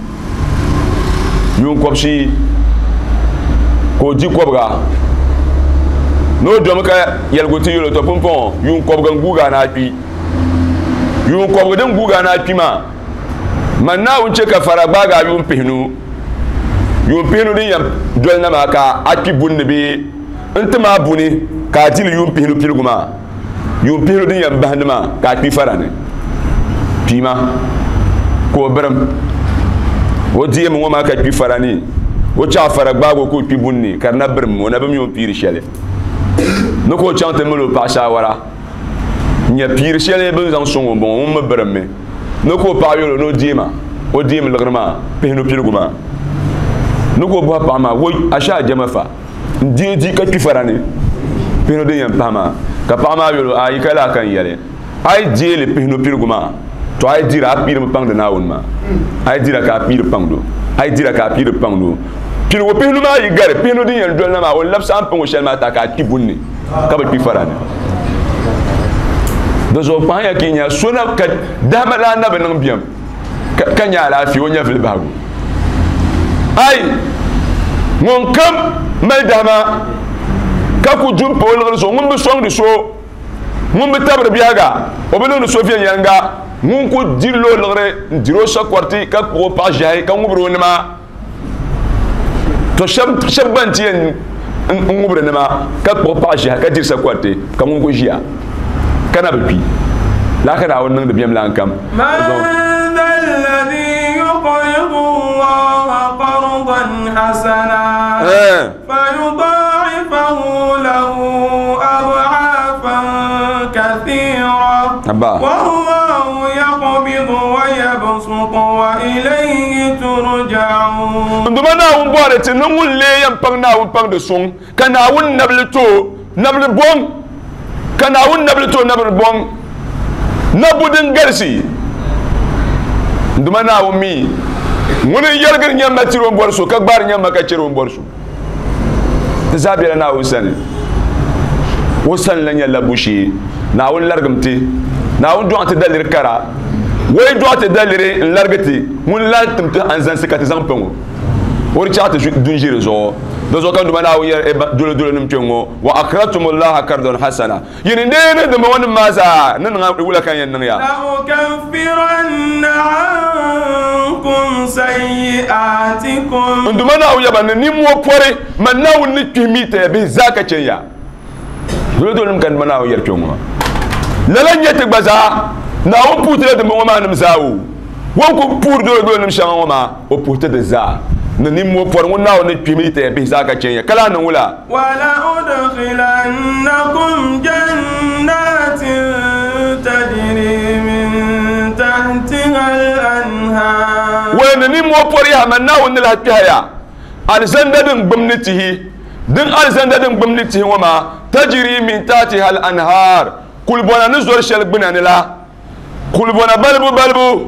yuun kɔbisiyi ka o di kɔbiga ni o domi ka yɛligu ti yɛl o, tɔ pumpɔŋɔ yuun kɔbiga n-guugi a ni a kpi. Yuun kɔbiga din guugi a ni a kpi maa, man Naawuni chɛ ka fara gbaagi a yuun pihinu, yuun pihinu din yɛn doli na maa ka a kpi buni ni bee n-tim a buni ka a di li yuun pihinu piligu maa, yuun pihinu din yɛn bahindi maa ka a kpi fara ni. Kpiima ka o birim o deemi ŋɔ maa ka kpi fara ni, o chaɣ fara gbaag o ka o kpi buni ni ka di na birim o na bi mi o piiri shɛli ni ka o chaŋ ti mali o paɣa shaawara. N-nya piiri shɛli bɛ ni zaŋ sɔŋ o m-bɔŋɔ, ŋun mi birimmi ni ka o paɣa yɛl o ni o deema o deem liɣiri maa pihinu piligu maa. Ni ka o bɔhi paɣa maa, Woi, a shee a jɛma fa? N deei di ka kpi fara ni pihinu din yɛn pahi maa. Ka paɣa maa yɛl o, Ayi, ka laa ka n yɛli, a yi deei li pihinu piligu maa, tɔ a yi dira a piirimi paŋdi Naawuni maa. A yi dira ka a piiri paŋd o, a yi dira ka a piiri paŋd o. Piligu pihinu maa yi gari pihinu din yɛn doli na maa, o ni labisi a ni paŋ o shɛli maa ti a ka a kpi buni ni. Ka bi kpi fara ni. Di zuɣu kpahiya ka yi nya so na ka dahima laa na bi niŋ biɛm ka nya alaafee o nyɛvili bahigu. Ai, ŋun kam mali dahima ka ku du m-pa o liɣiri zuɣu, ŋun bi sɔŋdi so, ŋun bi tabiri biɛhiga, o bi niŋdi so viɛnyɛliŋga, ŋun ku dirila o liɣiri n-diri o sakɔriti ka kpuɣi o paɣ ʒiɛhi ka ŋubiri o nima. To shɛb gba n-ti yɛn ŋubiri nima ka kpuɣi paɣ ʒiɛhi ka diri sakɔriti ka ŋun ku ʒiya ka na bi kpi. Lala ka Naawuni niŋdi biɛm lan kam. Abba. N Duuma Naawuni bɔri ti ni ŋun lee yɛn paŋ Naawuni paŋdi suŋ, ka Naawuni nabili ti o nabili bɔŋ, ka Naawuni nabili ti o nabili bɔŋ, nabbu din galisi. N Duuma Naawuni mi ŋuni n-yɛligiri nyamma tiri o ni bɔri so, ka gbaari nyamma ka chɛri o ni bɔri so. Ti zaa bela Naawuni sani. O sani la nyɛ labbu shee. Naawuni larigim ti. Naawuni dɔɣi ti daliri kara. O yi dɔɣi ti daliri n-larigi ti, ŋun lan tim ti anzansi ka ti zaŋ paŋ o. O di chaɣ ti dunʒiri zuɣu. Di zuɣu ka n Duuma Naawuni yɛli dolodolonim kpe ŋɔ, Wa akratumulaha kardon hasana. Yi ni deei ni dimbɔŋɔnim maa zaa ni niŋ a, wula ka n yɛn niŋ ya? La'ukaffiranna ankum sayyi'atikum. N Duuma Naawuni yaba ni nimmoo pɔri, man Naawuni ni kpihi mi taya bihi zaa ka chɛn ya. Dolodolonim ka n Duuma Naawuni yɛri kpe ŋɔ maa. Lala n-nyɛ ti gba zaa, Naawuni puhi ti la dimbɔŋɔ maa nim zaa o. O ni ku puhiri dolodolonim shɛŋa ŋɔ maa, o puhi ti di zaa. Ni nimmoo pɔri ŋun Naawuni ni kpihi mi taya bihi zaa ka chɛn ya, ka lahi niŋ wula? Wala'udkhilannakum jannatin tajri min tahtiha al-anhar. Wala ni nimmoo pɔri yaha, man Naawuni ni lahi kpɛhi ya alizanda din gbum ni tihi, Din alizanda din gbumdi tihi ŋɔ maa, tajiri min tahtiha al-anhar, kulibɔna ni zori shɛli gbuna ni la, kulibɔna balibu balibu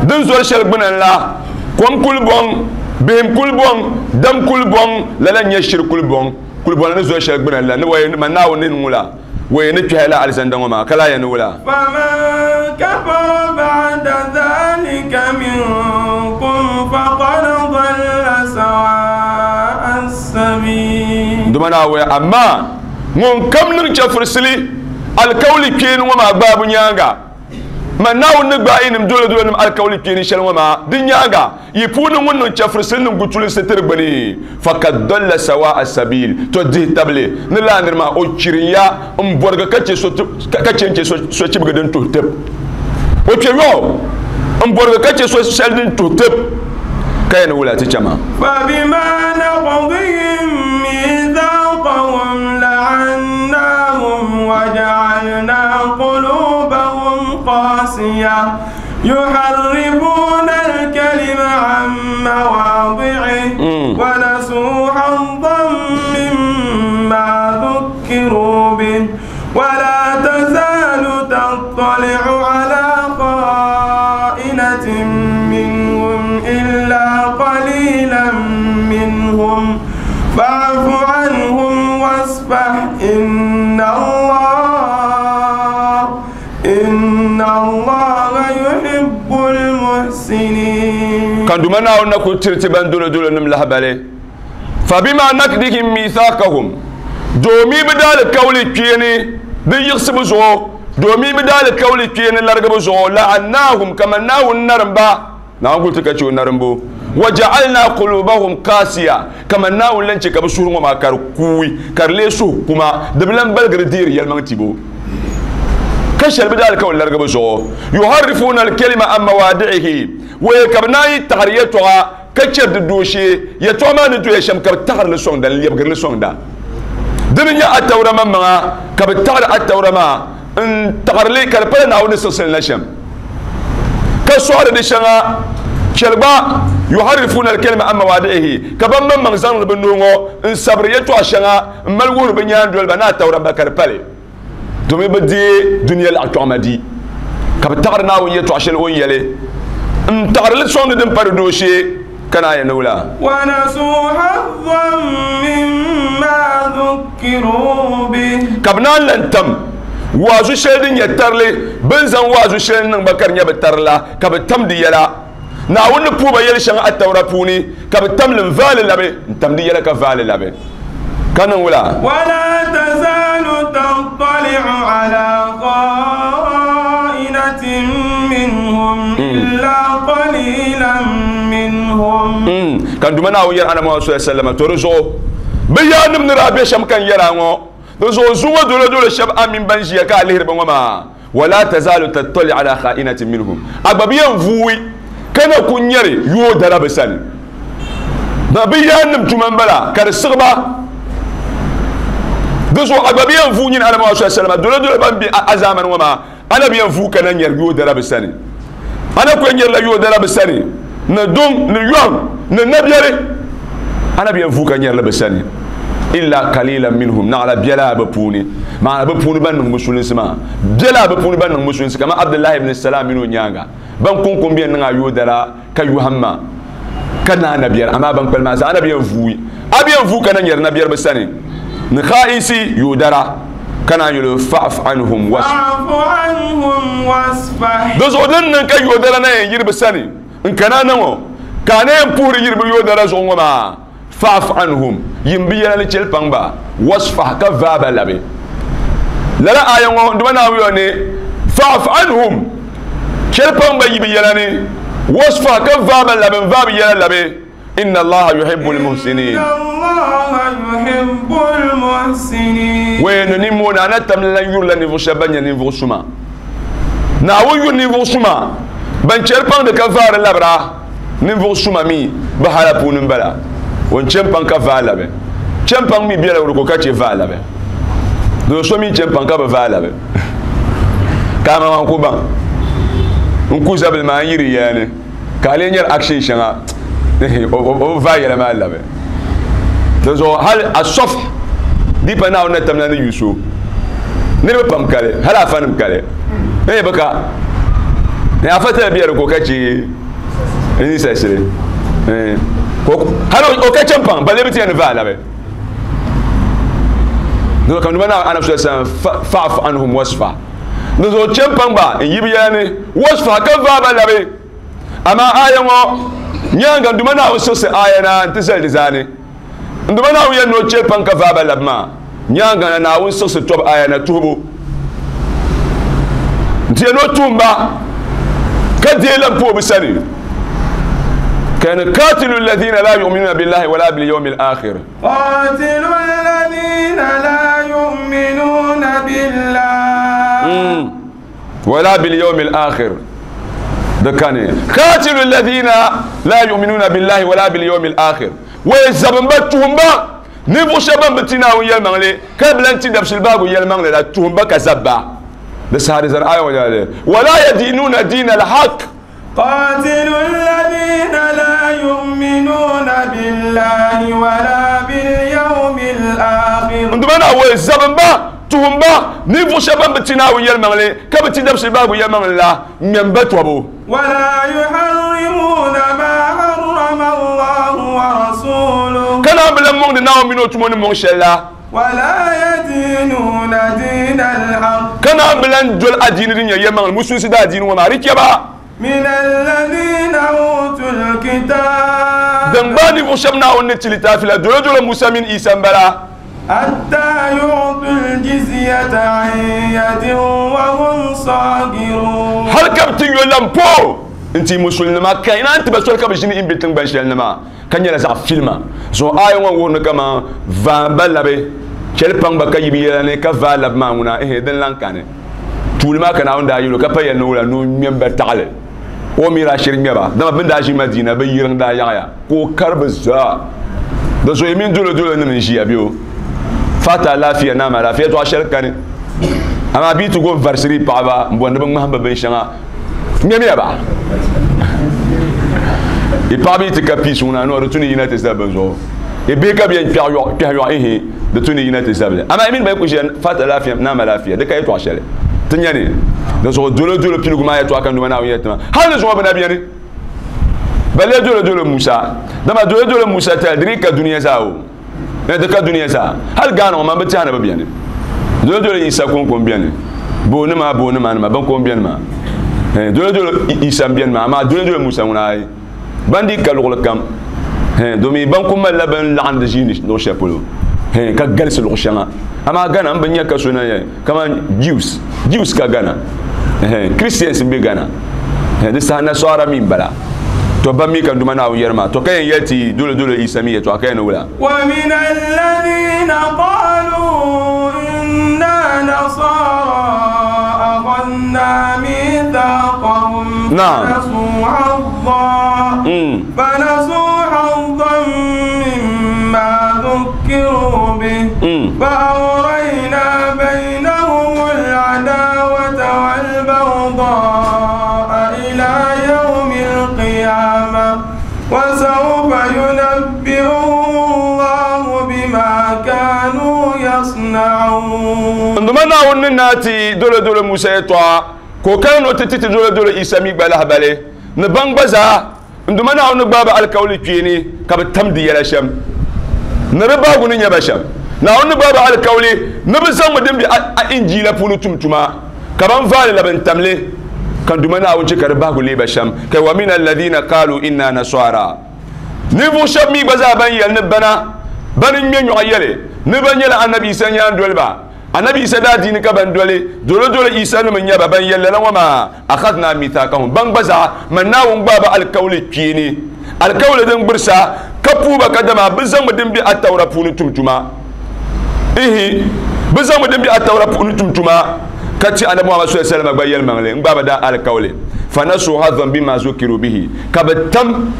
din zori shɛli gbuna ni la, kom kulibɔŋ, bihim kulibɔŋ, dam kulibɔŋ, lala n-nyɛ shiri kulibɔŋ, kulibɔna ni zori shɛli gbuna ni la, ni waya man Naawuni ni niŋ la, waya ni kpɛhi la alizanda ŋɔ maa, ka lahi yɛn ni wula. Faman kafara ba'da dhalika minkum faqad dalla sawa'a as-sabil. Duma Naawuni, amaa ŋun kam niŋ chɛfurisili alikauli kpeeni ŋɔ maa gbaabu nyaaŋa, man Naawuni ni gbaai yinim dolodolonim alikauli kpeeni shɛli ŋɔ maa di nyaaŋa, yi puuni ŋun niŋ chɛfurisili niŋ gutulinsi tiri gbuni, fakad dalla sawa'a sabil, to dihi tabili ni lala niri maa o chirinya m-bɔrigi ka chɛ ka chɛ n-chɛ so chibigi din tuhi tib. O kpe yɔɣu m-bɔrigi ka chɛ so shɛli din tuhi tib, ka yɛn ni wula ti chɛ maa. Fabima naqdihim mithaqahum la'annahum wa ja'alna qulubahum qasiyah yuharrifuna al-kalima 'an mawadhi'ihi wa nasu haddan mimma dhukkiru bihi wa la tazalu tattali'u 'ala kha'inatin minhum illa qalilan minhum fa'fu 'anhum wasfah inna Allaha yuhibbul muhsinin. Kan duma Naawuni na ku tiriti ban dolodolonim lahabali. Fabima nakdihim mithaqahum, doomi bɛ daalikauli kpeeni di yiɣisibu zuɣu, doomi bɛ daalikauli kpeeni larigibu zuɣu, la'annahum, kaman Naawuni narimba, Naawuni kuli ti ka chɛ o narimbu, wa ja'alna qulubahum qasiya, kaman Naawuni lan chɛ ka bɛ suhuri ŋɔ maa ka di kuui, ka di leei suhu kuma, di bi lan baligiri deeri yɛlimaŋ tibo. Ka shɛli bɛ daalikauli larigibu zuɣu, yuharrifuuna al-kalima an mawaadi'ihi, wee ka bɛ naan yi taɣiri yɛtɔɣa ka chɛri di dooshee, yɛtɔɣa maa ni doya shɛm ka bɛ taɣiri li sɔŋda, n-lɛbigiri li sɔŋda. Dini n-nyɛ Attaura maŋmaŋa, ka bɛ taɣiri Attaura maa n-taɣiri li ka di pala Naawuni ni siɣisi li na shɛm, ka sɔɣiri di shɛŋa. Chɛli gba, yuharrifuuna al-kalima an mawaadi'ihi, ka ban maŋmaŋ zaŋdi bɛ nuu ŋɔ n-sabiri yɛtɔɣa shɛŋa m-mali wuhiri bɛ nyaandoliba ni Attaura ba ka di pali, domin bɛ deei dunia laɣikpɛɣima di, ka bɛ taɣiri Naawuni yɛtɔɣa shɛli o ni yɛli n-taɣiri li sɔŋdi din pa di dooshee, ka naan yɛn ni wula. Wa nasu hazzan mimma dhukkiru bihi. Ka bɛ naan lan tam waazu shɛli din nyɛ tarili, bɛ ni zaŋ waazu shɛli niŋ ba ka di nyɛ bɛ tarili la, ka bɛ tam di yɛla. Naawuni ni puhi ba yɛli shɛŋa Attaura puuni, ka bɛ tam li n-vaai li labi, n-tam di yɛla ka vaai li labi, ka niŋ wula? Wala tazalu tattali'u ala kha'inatin minhum illa qalilan minhum. Ka n Duuma Naawuni yɛli Annabi Muhammad sallallahu alaihi wasallam, to di zuɣu bɛ yaannim ni daa be shɛm ka n yɛri a ŋɔ, di zuɣu zuŋɔ dolodolo shɛba a mini ban ʒiya ka a lihiri ba ŋɔ maa, wala tazalu tattali ala kha'inatin minhum, a gba bi yɛn vuui ka na ku nyɛri yooi dala bɛ sani. Ba bɛ yaannim tuma m-bala ka di siɣi ba. Di zuɣu a gba bi yɛn vuui nyini Annabi Muhammad sallallahu alaihi wasallam, dolodolo ban be a zaamani ŋɔ maa, a na bi yɛn vuui ka na nyɛri yooi dala bɛ sani. A na ku yɛn nyɛrila yooi dala bɛ sani ni duŋ, ni yɔŋ, ni nabiɛri. A na bi yɛn vuui ka nyɛrili bɛ sani. Illa qalilan minhum, naɣila biɛla bɛ puuni. Maana bɛ puuni ban niŋ musulinsi maa, biɛla bɛ puuni ban niŋ musulinsi kamani Abdullahi ibn Salam mini o nyaaŋa, ban kuŋkum bɛ niŋ a yooi dala ka yɔhim ma ka naai nabiɛri, amaa ban kpalim maa zaa a na bi yɛn vuui. A bi yɛn vuui ka na nyɛri nabiɛri bɛ sani ni kha'isi yooi dara, ka naan yɛli o, Fa'fu anhum wasfah. Di zuɣu din niŋ ka yooi dara na yɛn yiri bɛ sani n-kana na ŋɔ, ka a na yɛn puhiri yiri bɛ yooi dara zuɣu ŋɔ maa, Fa'fu anhum, yim bɛ yɛla ni chɛli paŋ ba, wasfah, ka vaai ba labi. Lala aaya ŋɔ Duuma Naawuni yɛli ni, Fa'fu anhum, chɛli paŋ ba yi bɛ yɛla ni, wasfah, ka vaai ba labi, n-vaai bɛ yɛla labi. Inna Allaha yuhibbul muhsinin. Inna Allaha yuhibbul muhsinin. Wee ni nimmoo ni a na tam lan yurila ninvuɣ shɛba ban nyɛ ninvuɣ suma. Naawuni yuri ninvuɣ suma ban chɛri paŋdi ka vaari labira. Ninvuɣ suma mi bi hala puuni m-bala. O ni chɛ m-paŋ ka vaai labi. Chɛ m-paŋ mi bela o di ko ka chɛ vaai labi. Doo so mi chɛ m-paŋ ka bi vaai labi. Ka a maŋ ku baŋ n ku zabili maa n yiri ya ni ka a lee nyari action shɛŋa o bi vaai yɛla maa labi. Dinzuɣu hali asɔf di pa Naawuni na tamla ni yu so. Niriba pam kali, hali afanim kali. Ee bi ka. Ni afa tali bɛ di ko ka che ni sasili. Hali o ka champaŋ, balle bi ti yɛn ni vaai labi. Dinzuɣu ka numa na Anabi sallallahu alaihi wasallam fa'fu anhum wasfa. Dinzuɣu champaŋ ba n yi bi yɛla ni wasfa ka vaai ba labi. Amaa aya ŋɔ nyaaŋa n Duuma Naawuni siɣisi aya na nti zali di zaani. N Duuma Naawuni yɛli ni o chɛ paŋ ka vaai ba labi maa nyaaŋa na Naawuni siɣisi tɔbu aya na tuhibu nti yɛli ni o tuhim ba ka deei lan pa o bi sani. Ka yɛli ni, Kaatilu alladhina la yu'minuna billahi wala bil yawmil akhir. Qatilu alladhina la yu'minuna billahi. Wala bil yawmil akhir. Di kani. Qatilu alladhina la yu'minuna billahi wala bil yawmil akhir. Wai zabin ba tuhum ba ninvuɣu shɛba ban bi ti Naawuni yɛlimaŋli ka bi lan ti dabisili baagu yɛlimaŋli la tuhum ba ka zabba. Di saha di zani aya ŋɔ nyɛla wala yadinuna dina al-haq. Qatilu alladhina la yu'minuna billahi wala bil yawmil akhir. N Duuma Naawuni zabin ba tuhum ba ninvuɣu shɛba ban bi ti Naawuni yɛlimaŋli ka bi ti dabisili baagu yɛlimaŋli la ŋmɛm ba tɔbu. Wala yuharrimuna ma harrama Allahu wa rasuluhu. Ka naan bi lan mɔŋdi Naawuni mini o tumo ni mɔŋ shɛli la. Wala yadinuna dina al-haqq. Ka naan bi lan doli adiini din nyɛ yɛlimaŋli musulinsi daa diini ŋɔ maa di chɛ ba. Min alladhina utul kitab. Din gbaai ninvuɣu shɛba Naawuni ni ti litaafi la dolo dolo Musa mini Isa m-bala. Hatta yu'tul jizyata an yadin wa hum saghirun. Hali ka bɛ ti yo lampoo n-ti musulinima ka naan ti ba soli ka bɛ ʒini m-be tiŋgbani shɛli ni maa ka nyɛla zaɣ filima. Zuɣu aaya ŋɔ wuhiri ni kaman vaai ba labi chɛli paŋ ba ka yi bi yɛla ni ka vaai labi maa ŋuna ehe din lan kani. Tuuli maa ka Naawuni daa yɛl o ka pa yɛli ni wula ni o ŋmɛm ba taɣili. O mi daa shiri ŋmɛ ba, dama bɛ ni daa ʒi Madiina bɛ yiriŋ daa yaɣiya ka o kari bɛ zaa. Di zuɣu yi mini dolodolo nim n-ʒiya bɛ o fata alaafeya naam alaafeya yɛtɔɣa shɛli kani. Amaa bɛ yi ti go n-varisiri yi paɣiba m-bɔri ni bɛ ŋmahim ba binshɛŋa, ŋmɛmiya ba. Yi paɣiba yi ti ka peace ŋuna noo di tu ni yina ti zabi bɛ zuɣu. Yi bihi ka bɛ yɛn kpɛhi yɔɣu ihi di tu ni yina ti zabili. Amaa yi mini ba yi ku ʒiya fata alaafeya naam alaafeya di ka yɛtɔɣa shɛli ti nya ni. Di zuɣu dolodolo piligu maa yɛtɔɣa ka n Duuma Naawuni yɛli ti ma. Hal ni zuŋɔ bɛ na beni. Balle dolodolo Musa. Dama dolodolo Musa tali di dii ka dunia zaa o. Di ka dunia zaa. Hal Ghana ŋɔ maa bi tɛha ni bi beni. Dolodolo Isa kɔŋko m-beni. Boonima boonima nima ban ko m-beni maa. Dolodolo Isa m-beni maa amaa dolodolo Musa ŋuna ayi. Ban dii ka luɣili kam. Domi ban ku malila bɛn laɣindi ʒiini luɣ shɛli polo ka galisi luɣ shɛŋa. Amaa Ghana m bi nya ka so na yɛli kaman Jews. Jews ka Ghana. Christians m-be Ghana. Di saha Nasara mi m-bala. To ban mi ka n Duuma Naawuni yɛri maa, to ka yɛn yɛli ti dolodolo Isa mi yɛtɔɣa ka yɛn ni wula? Wa min alladhina qalu inna nasara akhadna mithaqahum fanasu haddan mimma dhukkiru bihi fa awrayna baynahum al-adawata wal-baghdha'a ila yawmi al-qiyamah wa sawfa yunabbi'uhum Allahu bima kanu yasna'un. N Duuma Naawuni ni naa ti dolodolo Musa yɛtɔɣa ka o kana ni o ti ti ti dolodolo Isa mi gba lahibali ni ban gba zaa n Duuma Naawuni ni gbaai ba alikauli kpeeni ka bɛ tam di yɛla shɛm ni di bahigu ni nyɛ ba shɛm. Naawuni ni gbaai ba alikauli ni bɛ zaŋmi din be a Injiila puuni tum tuma ka ban vaai li labi n-tam li ka n Duuma Naawuni chɛ ka di bahigu leei ba shɛm. Ka wa min alladhina qalu inna nasara. Ninvuɣ shɛb mi gba zaa ban yɛli ni bana bani ŋme nyɔɣu yɛli ni bɛ nyɛla Anabi Isa nyaandoliba. Anabi Isa daa diini ka ban doli dolodolo Isa nim n-nyɛ ba ban yɛli lala ŋɔ maa akhadna mithaqahum ban gba zaa man Naawuni gbaai ba alikauli kpeeni alikauli din gbirisa ka puhi ba kadama bɛ zaŋmi din be Attaura puuni tum tuma. Ihi bɛ zaŋmi din be Attaura puuni tum tuma ka ti Anabi Muhammad sallallahu alaihi wasallam gba yɛlimaŋli n-gbaai ba daa alikauli fanasu hadhan bima zukiru bihi ka bɛ tam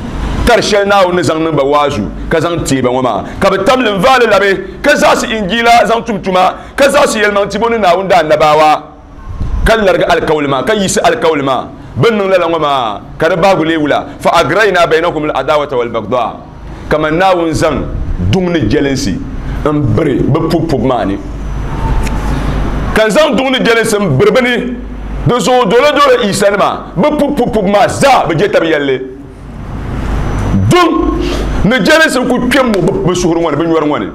tari shɛli Naawuni ni zaŋ niŋ ba waazu ka zaŋ teei ba ŋɔ maa ka bɛ tam li n-vaai li labi ka zaɣisi Injiila zaŋ tum tuma ka zaɣisi yɛlimaŋ tibo ni Naawuni daa anabaawa ka larigi alikauli maa ka yiɣisi alikauli maa bɛ ni niŋ lala ŋɔ maa ka di bahigu leei wula fa agrayna baynahum al-adawata wal-baghdha kaman Naawuni zaŋ Duŋ ni jɛlinsi n biri bɛ pubu pubu maa ni, ka n zaŋ duŋ ni jɛlinsi n biri bɛ ni. Di zuɣu dolo dolo Isa nima bɛ pubu pubu maa zaa bɛ je tabi yɛlli. Duŋ ni jɛlinsi ku kpɛ mu bɛ suhuri ŋɔ ni, bɛ nyɔri ŋɔ ni.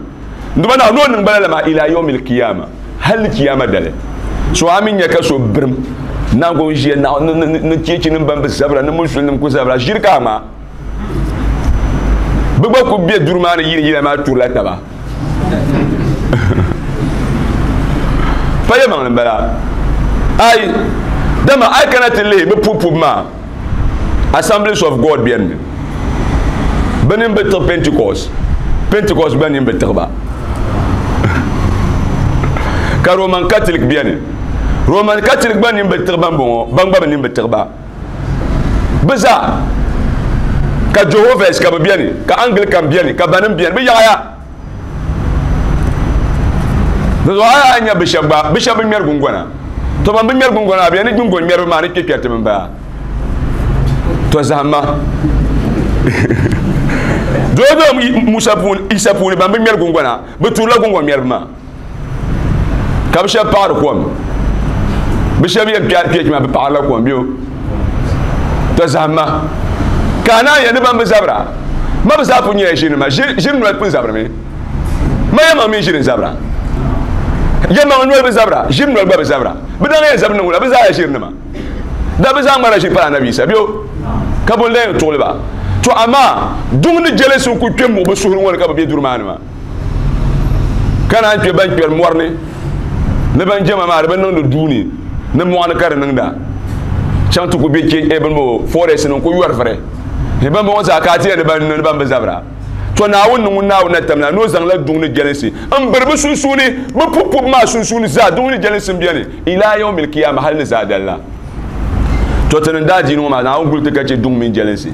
Nduma na no niŋ bala la maa ila yawmil qiyama, hali kiyama dali. So a mi nya ka so birim nango ʒiya na ni cheechi nim ban bi zabira ni musulinim ku zabira ʒiri ka maa bɛ gba ku be duri maa ni yili yila maa turila taba. Pa yɛlimaŋli n-bala. Ai, dama a yi kana ti lihi bɛ pubu pubu maa, Assemblies of God beni mi. Bɛ nini bi tiɣi Pentecost, Pentecost gba nini bi tiɣi ba. Ka Roman Catholic beni. Roman Catholic gba nini bi tiɣi ban bɔŋɔ, ban gba bi nini bi tiɣi ba. Bɛ zaa. Ka Jehovah's ka bɛ beni, ka Anglican beni, ka banim beni, bɛ yaɣaya. Di zuɣu a yi nya bɛ shɛba gba, bɛ shɛba bi ŋmɛri gungɔna. To ban bi ŋmɛri gungɔna maa, bɛ yɛn ni gungɔn ŋmɛriba maa ni kpe kpɛriti bɛ baa. To zahimma. Doo Musa puuni, Isa puuni ban bi ŋmɛri gungɔna, bɛ turila gungɔn ŋmɛriba maa. Ka bɛ shɛba paɣiri kom. Bɛ shɛba yɛn kpɛri kpɛchi maa, bɛ paɣirila kom bɛ o. To zahimma. Ka a naan yɛn ni ban bi zabira, ma bɛ zaa pun nyɛla ʒirinima. Ʒiri noli pun zabirimi. Ma yɛmaŋ mini ʒiri n-zabira. Yɛmaŋ noli bi zabira, ʒiri noli gba bi zabira. Bɛ daa yɛn zabi niŋ wula, bɛ zaa ʒirinima. Da bɛ zaa ŋmarila ʒiri pala Anabi Isa bɛ o. Ka bɔ n-lee yɛn tuɣili ba? To amaa duŋ ni jɛlinsi n-kul kpe m-muɣi bɛ suhuri ŋɔ ni ka bɛ be duri maa ni maa. Ka naan kpe ban kpɛri mɔri ni, ni ban jɛma maa di bi niŋdi duu ni, ni mɔɣu ni ka di niŋda. Chaŋ ti ku be che, eh, bini bɔ, forest ni n-ku yɔri vuri. Ni ban bɔŋɔ zaa ka a ti yɛli ni ban, ni ban bi zabira. To Naawuni ni ŋun Naawuni na tamla ni o zaŋla duŋ ni jɛlinsi m-biri bɛ sunsuuni, bɛ pubu pubu maa sunsuuni zaa duŋ ni jɛlinsi m-beni ilaa yawmil kiyama hali ni zaadali la. To ti ni daa diini ŋɔ maa, Naawuni guli ti ka chɛ duŋ mini jɛlinsi.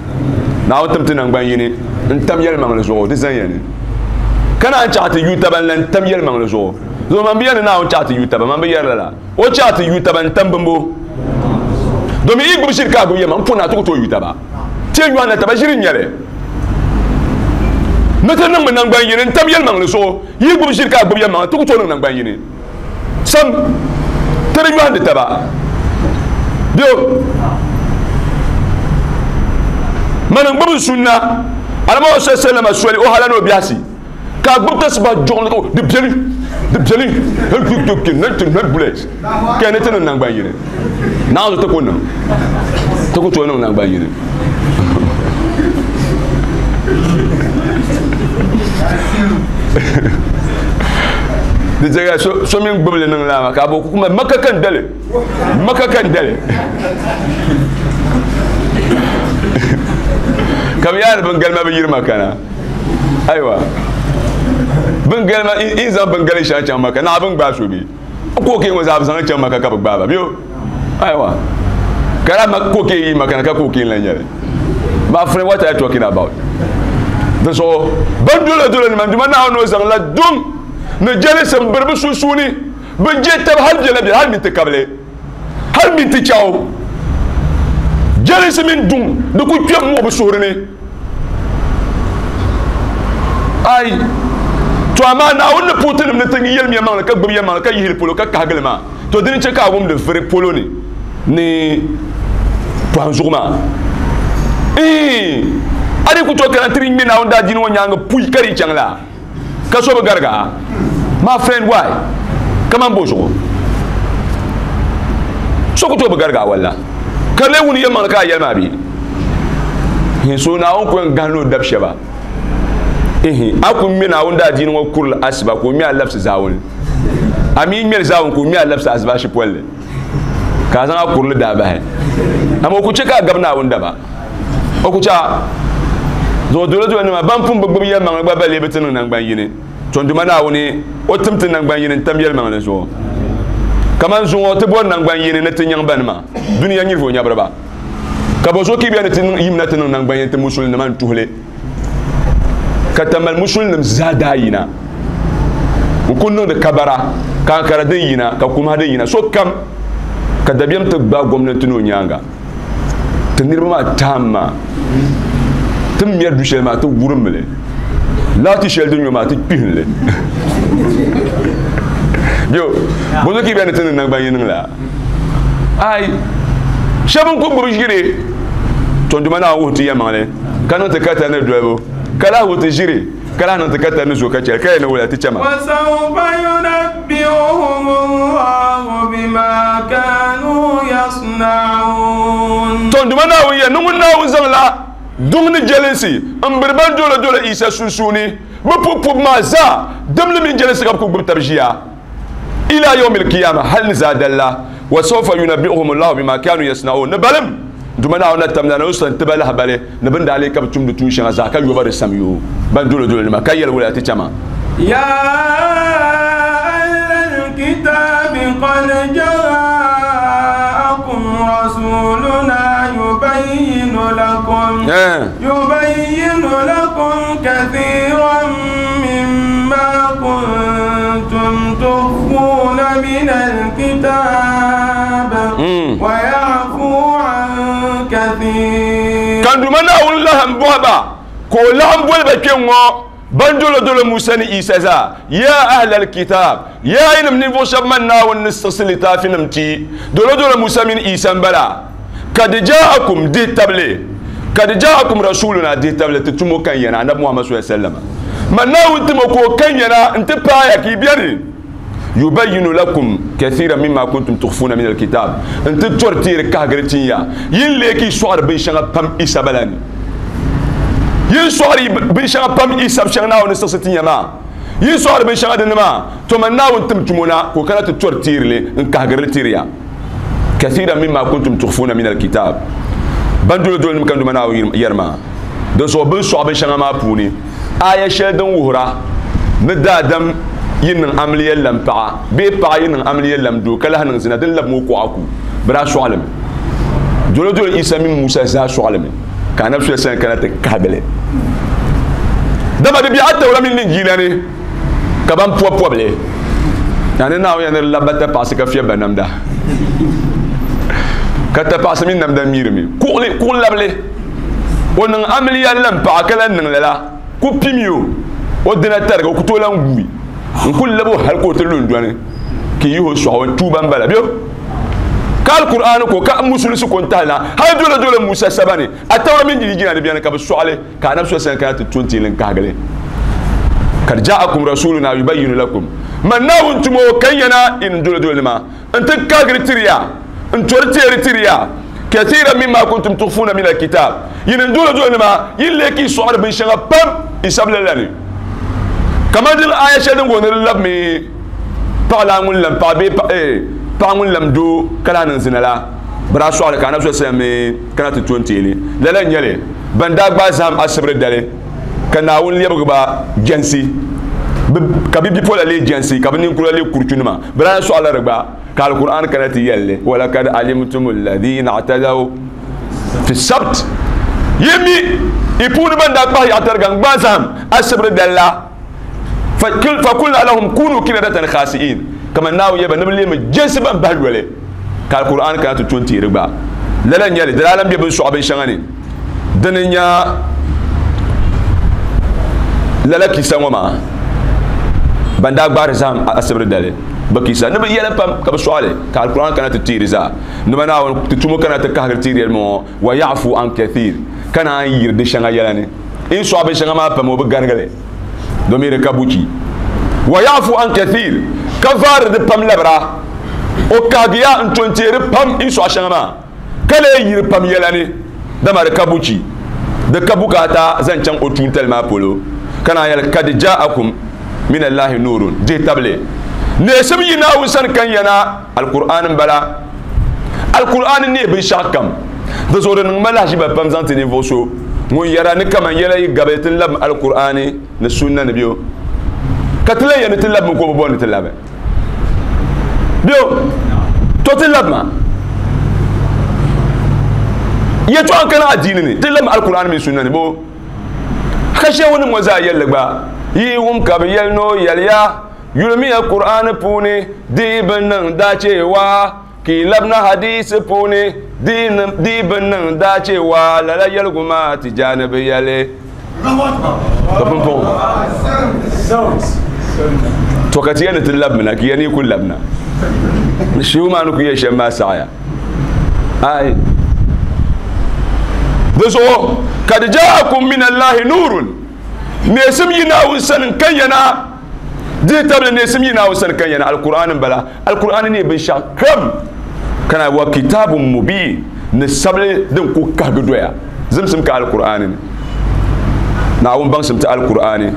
Naawuni tim ti naŋgban yini n-tam yɛlimaŋli zuɣu, di zan ya ni. Ka naan chaɣ ti yu taba n-lan tam yɛlimaŋli zuɣu. Zuɣu man bi yɛli ni Naawuni chaɣ ti yu taba, man bi yɛri lala. O chaɣ ti yu taba n-tam bimbo. Domin yi gbubi ʒiri ka a gbubi yɛma, m pun a ti ku tooi yu taba. Ti yɛn yɔhindi taba ʒiri n-nyɛ li. Ni ti niŋmi naŋgban yini n-tam yɛlimaŋli zuɣu. Yi gbubi ʒiri ka a gbubi yɛlimaŋli, ti ku tooi niŋ naŋgban yini. Sam, ti di yɔhindi taba. Bɛ mani n gbubi sunna Alamahu sallama soli o hala ni o biɛhisi ka a gbubi tasiba joɣili ka di beni di beni ka ni ti niŋ naŋgban yini naanzu ti ku niŋ ti ku tooi niŋ naŋgban yini. Di chɛ ka so mini gbubili niŋ laa maa ka a bo kuma maka ka n dali maka ka n dali ka bi yaari bin galima bi yiri maka na ayiwa bin galima in zaŋ bin gali shɛŋa chaŋ maka naɣa bin gbaai so bi kooke ŋɔ zaa bi zaŋ chaŋ maka ka bi gbaai ba biyo ayiwa ka daa ma kooke yi maka na ka kooke n lan nyɛli. My friend, what are you talking about? Di zuɣu ban dolo dolo nima Duuma Naawuni o zaŋla duŋ ni jɛlinsi m-biri bɛ sunsuuni, bɛ je taba hali biɛla biɛla hali minti kabili hali minti chaɣu. Jɛlinsi mini duŋ di ku kpɛm muɣi bɛ suhuri ni. Ai, to amaa Naawuni ni puhi tinim ni ti yɛlim yɛlimaŋli ka gbubi yɛlimaŋli ka yihili polo ka kahigili maa. To dini chɛ ka a wumdi vuri polo ni ni pɔhim zuɣu maa. Iin! A di ku tooi kana ti di ŋme Naawuni daadiini ŋɔ nyaaŋa puyi ka di yi chaŋ la, ka so bi garig a. My friend, why? Kaman bo zuɣu? So ku tooi bi garig a walla? Ka lee wuni yɛlimaŋli ka a yɛli maa bee? Iin, so Naawuni ku yɛn gahindi o dab shɛba. Ihin, a ku ŋme Naawuni daadiini ŋɔ kurili asiba ka o ŋme a labisi zaawuni. A mi ŋmɛli zaawuni ka o ŋme a labisi asibaasi polli, ka a zaŋ a kurili daa bahi. Amaa o ku chɛ ka a gabi Naawuni daba. O ku chɛ a. Zuɣu dolodolonima ban pun bi gbibi yɛlimaŋli gba ba lee bi ti niŋ naŋgban yini. Tɔnduma Naawuni, o tim ti naŋgban yini n-tam yɛlimaŋli zuɣu. Kaman zuŋɔ ti bɔri naŋgban yini ni ti nyaŋ banima, dunia nyirivɔ nyabiriba. Ka bɔ zuɣu ka yi bɛ ni ti yimina ti niŋ naŋgban yini ti musulinima n-tuhi li? Ka Tamale musulinim zaa daa yina n-kuli niŋdi kabara, ka ankara din yina, ka kumaha din yina, sokam ka dabiɛm ti gbaai gomnanti ni o nyaaŋa. Ti niriba maa taam maa, ti ni mɛri du shɛli maa, ti wurimmi li. Laati shɛli din nyo maa ti kpihim li. Yo, bozo ki bɛ ni ti niŋ naŋgban yini niŋ la. Ai, shɛba n ku gbubi ʒiri tɔnduma naa wuhi ti yɛlimaŋli ka niŋ ti ka tali ni dolibu ka lahi wuhi ti ʒiri ka lahi niŋ ti ka tali ni zo ka chɛli ka yɛli ni wula ti chɛma. وسوف ينبئهم الله بما كانوا يصنعون. Tɔnduma Naawuni yɛli ni ŋun Naawuni zaŋla duŋ ni jɛlinsi n biri ban dolo dolo Isa sunsuuni bɛ pubu pubu maa zaa dimli mini jɛlinsi ka bɛ ku gbubi tab ʒiya ila yawmil qiyama hal ni zaadali la wa sawfa yunabbi'uhum Allahu bima kanu yasna'un ni balim Duma Naawuni na tamla ni o sani ti ba lahibali ni bɛ ni daa lee ka bɛ tumdi tuun shɛŋa zaa ka yo ba di samyoo ban dolo dolo nima ka yɛli wula ti chama. يا أهل الكتاب قد جاءكم رسولنا يبين لكم يبين لكم كثيرا مما كنتم تخفون من الكتاب ويعفو عن كثير. Kan duma Naawuni lahi bɔhi ba ka o laɣim boli ba kpe ŋ-ŋɔ ban dolo dolo Musa ni Isa zaa ya ahlal kitab ya yinim ninvuɣ shɛba man Naawuni ni siɣisi litaafinim ti dolo dolo Musa mini Isa m-bala kad jaakum dihi tabili kad jaakum rasuluna dihi tabili ti tumo kan yana Annabi Muhammad sallallahu alaihi wasallam man Naawuni timo ka o kan yana n-ti paaya ka yi beni yubayyinu lakum kathiran mimma kuntum tukhfuna min alkitab n-ti tɔri teeri kahigiri tin ya yin leei ka yi sɔɣiri binshɛŋa pam Isa bala ni yin sɔɣiri binshɛŋa pam Isa shɛŋa Naawuni ni siɣisi tin ya maa yin sɔɣiri binshɛŋa dinni maa to man Naawuni tim tumo na ka o kana ti tɔri teeri li n kahigiri li tiri ya kathiran mimma kuntum tukhfuna min alkitab ban dolo dolo nim kan duma Naawuni yɛri maa din zuɣu bin sɔɣi binshɛŋa maa puuni aya shɛli din wuhira ni daadam yi niŋ amiliya lam paɣa bee paɣa yi niŋ amiliya lam doo ka lahi niŋ zina din labi ŋɔ kuɣa ku bɛ daa sɔɣilimi dolo dolo Isa mini Musa zaa sɔɣilimi ka Anabi sallallahu alaihi wasallam kana ti kahibili dama di bɛ Atawura mini Linjiila ni ka ban pɔbi pɔbili yani Naawuni yɛli ni di labi ba tapaɣisi ka fiɛbi ba namda ka tapaɣisi mini namda miirimi kuɣuli kuɣu labili o niŋ amiliya lam paɣa ka lahi niŋ lala ku pimi o o dina tarigi o ku tooi lan guui n ku labi o hali ka o ti lu n-dɔni ka yi yihi o sɔɣi o tuuba m-bala bɛ ka Alkur'aani ko ka musulisi ko n-tahi na hali dole dole Musa saba ni Atawura mini Linjila ni bɛni ka bɛ sɔɣili ka Anabi sallallahu alaihi wasallam kana ti to n-ti li n-kahigili kad ja'akum rasuluna yubayyinu lakum man Naawuni tumo kan yana in dole dole nima n-ti kahigiri tiriya n tori teeri tiriya kathiran mimma kuntum tukhfuna min alkitab yin dole dole nima yin leei ka yi sɔɣiri binshɛŋa pam isabila la ni kamani din aya shɛli din gooni di labimi paɣa laa ŋun lam paɣa bee paɣa ŋun lam doo ka lahi niŋ zina la bɛ daa sɔɣili ka Anabi sallallahu alaihi wasallam mi kana ti to n-teei li lala n-nyɛ li ban daa gbaai zahim asibiri dali ka Naawuni lɛbigi ba jɛnsi ka bɛ bipola leei jɛnsi ka bɛ ninkura leei kuruchunima bɛ daa sɔɣila di gba ka Alkur'an kana ti yɛli li walakad alimtum alladhina i'tadaw fi sabt yi mi i puuni ban daa kpahi yaɣatariga n-gbaai zahim asibiri dali la fakulna lahum kunu kiradatan khasi'in kaman Naawuni yɛli ba ni bɛ leemi jɛnsi ban bahi yoli ka Alkur'an kana ti to n-teeri gba lala n-nyɛ li di daa lan be bin sɔɣi binshɛŋa ni dini n-nyɛ lala kisa ŋɔ maa ban daa gbaari zahim asibiri dali bɛ kisa ni bɛ yɛla pam ka bɛ sɔɣili ka Alkur'an kana ti teeri zaa ni ba Naawuni ti tumo kana ti kahigiri teeri yɛli ŋɔ wa ya'fu an kathir ka naan yiri di shɛŋa yɛla ni in sɔɣi binshɛŋa maa pam o bi garigili domin di ka buchi wa ya'fu an kathir ka vaari di pam labira o kahigiya n to n-teeri pam in sɔɣi shɛŋa maa ka lee yiri pam yɛla ni dama di ka buchi di ka bukaata zaŋ chaŋ o tuuntali maa polo ka naan yɛli kad ja'akum min Allahi nurun dihi tabili neesim yi Naawuni sani kan yana Alkur'aan m-bala Alkur'aan n-neei binshɛɣu kam di zuɣu di niŋ ma lahiʒiba pam zaŋ ti ninvuɣ so ŋun yɛra ni kaman yɛla yi gabi ti labim Alkur'aani ni sunna ni bɛ o ka ti lan yɛli ni ti labimi ka o bi bɔri ni ti labi bɛ o to ti labima yɛtɔɣa n-kana adiini ni ti labimi Alkur'aani mini sunna ni bɛ o ka shɛhunnim ŋɔ zaa yɛlli gba yi wum ka bɛ yɛli ni o yɛliya yulimiya Kur'aani puuni di yi bi niŋ daacheewa ka yi labina hadiisi puuni di yi bi niŋ daacheewa lala yɛligu maa Tijaani bi yɛli. Ka pumpɔŋɔ to ka ti yɛn ni ti labimina ka yɛn ni ku labina ni shehu maa ni ku yɛ shɛm maa saɣaya ai di zuɣu kad jaakum min allahi nurun neesim yi Naawuni sani n kan yana dihi tabili neesim yi Naawuni sani kan yana alkur'an n bala alkur'an ni binshɛɣu kam kana wa kitabun mubin ni sabili din ku kahigi doya zimsim ka alkur'an ni Naawuni baŋsim ti alkur'ani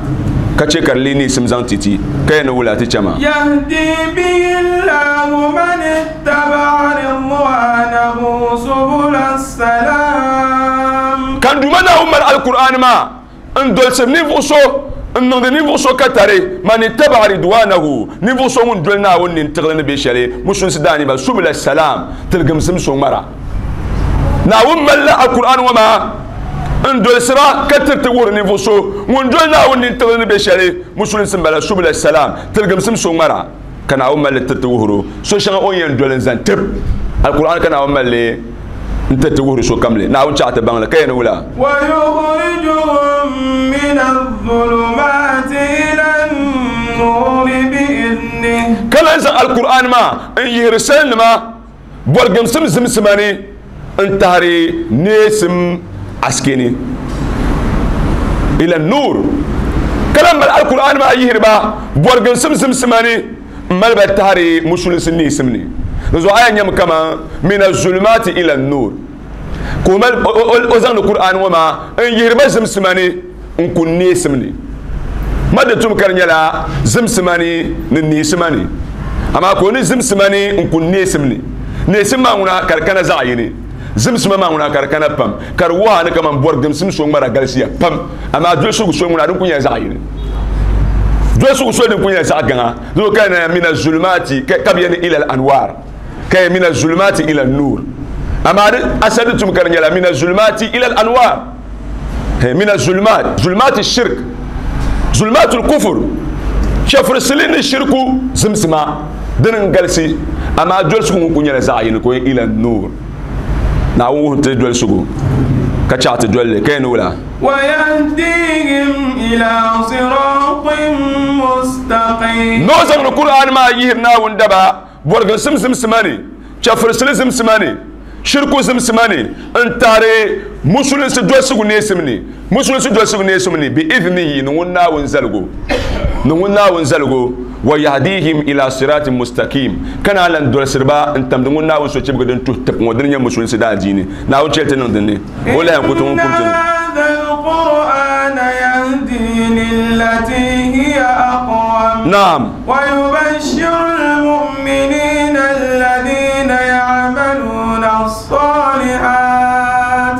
ka che ka di lee neesim zaŋ ti ti ka yɛn ni wula ti chɛ maa. Yahdi bihi Allahu man ittaba'a ridwanahu subula salam. Ka n Duuma Naawuni mali alkur'ani maa n dolsiri ninvuɣ so n niŋdi ninvuɣ so ka tari man ittaba'a ridwanahu ninvuɣ so ŋun doli Naawuni nintiɣili ni be shɛli musulinsi daaniba subula salam tiligimsim so ŋmara. Naawuni malila Alkur'aani ŋɔ maa n dolsira ka tiriti wuhiri ninvuɣ so ŋun doli Naawuni nintiɣili ni be shɛli musulinsi m-bala subula salam tiligimsim so ŋmara ka Naawuni mali li tiriti wuhiri o so shɛŋa o ni yɛn doli n-zaŋ tib Alkur'aani ka Naawuni mali li n-tiriti wuhiri sokam li Naawuni chaɣ ti baŋ li ka yɛn ni wula. ويخرجهم من الظلمات إلى النور بإذنه. Ka lan zaŋ Alkur'aani maa n-yihiri salinima bɔrigimsim zimsima ni n-tahiri neesim asike ni ila nur ka lan mali Alkur'aani maa yihiri ba bɔrigimsim zimsima ni m-mali ba tahiri musulinsi neesim ni. Di zuɣu a yɛn nyami kaman mina zulumaati ila nur ka o mali o zaŋdi Kur'aani ŋɔ maa n-yihiri ba zimsima ni n-kuni neesim ni. Ma di tum ka di nyɛla zimsima ni ni neesima ni, amaa ka o ni zimsima ni n-kuni neesim ni. Neesim maa ŋuna ka di kana zaɣ yini, zimsima maa ŋuna ka di kana pam, ka di wuhi a ni kaman bɔrigimsim so ŋmara galisiya pam, amaa dolisigu so ŋuna din kuli nyɛla zaɣ yini. Dolisigu so din kuli nyɛla zaɣ gaŋa. Di zuɣu ka yɛn mina zulumaati ka bi yɛn ni ila al-anwar, ka yɛn mina zulumaati ila nur. Amaa di asali di tum ka di nyɛla mina zulumaati ila al-anwar. Mina zulumaat, zulumaati shirk, zulumaatul kufur, chɛfurisili ni shirku zimsima dini n-galisi, amaa dolisigu ŋun kuli nyɛla zaɣ yini ka o yɛn ila nur. Naawuni wuhi ti dolisigu ka chaɣ ti doli li ka yɛn ni wula. ويهديهم إلى صراط مستقيم. Ni o zaŋdi Kur'aani maa yihiri Naawuni daba bɔriginsim zimsima ni, chɛfurisili zimsima ni, shirku zimsima ni, n-tahiri musulinsi dolisigu neesim ni, musulinsi dolisigu neesim ni, bi idhnihi, ni ŋun Naawuni zaligu, ni ŋun Naawuni zaligu, wa yahdihim ila siratin mustaqim, ka naan lan dolisiri ba n-tamdi ŋun Naawuni sochibigi din tuhi tib ŋɔ, dini nyɛ musulinsi daadiini. Naawuni chɛli ti niŋ din ni, o lahi ku ti ŋun kum ti ni. هذا القرآن يهدي للتي هي أقوم. نعم. ويبشر المؤمنين الذين يعملون الصالحات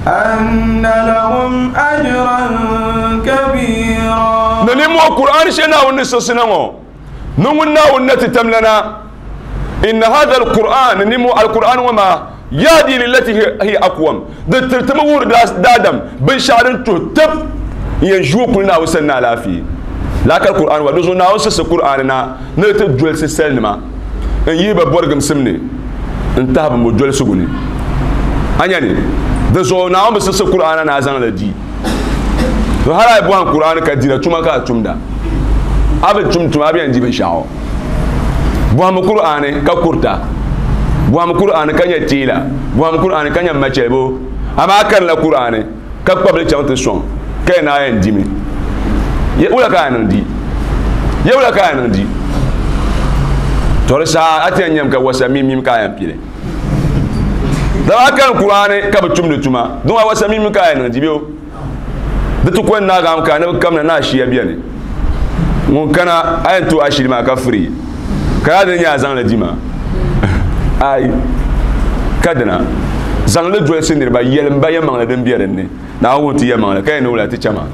أن لهم أجرا كبيرا. نلمو القرآن شنا ونسسنا نمنا ونتتملنا إن هذا القرآن نمو القرآن وما يهدي للتي هي أقوم. تمور دادم بنشعر تهتف ينجو كلنا وسلنا لا فيه. لكن القرآن ودوزنا وسس القرآننا نتجول سلنما إن يبقى برجم سمني انتهى بمجول سجوني. أنيني دوزنا وسس القرآن نازل لدي. وهذا يبغى القرآن كديرة ثم كاتم أبي ثم ثم أبي عندي بنشاو. بوام القرآن ككرتا. بوام القرآن كان يتيلا. بوام القرآن كان يمشيبو. أما كان القرآن كقبل شان تسون كان عندي مي. يقول كان عندي. يقول كان عندي. ترى أتي أنيم كواسمي ميم كاين بيلي. دابا كان القرآن كبتشم نتوما. دون واسمي ميم كاين عندي بيو. دتو كون نعم كان كم ناشيا بياني. ممكن أنتو أشيل ما كفري. كذا نيا زان لديما. أي كذا زان لدوي سنير با يلم با يمان لدم بيرني. نعوم تيا مان كأنه ولا تيجما.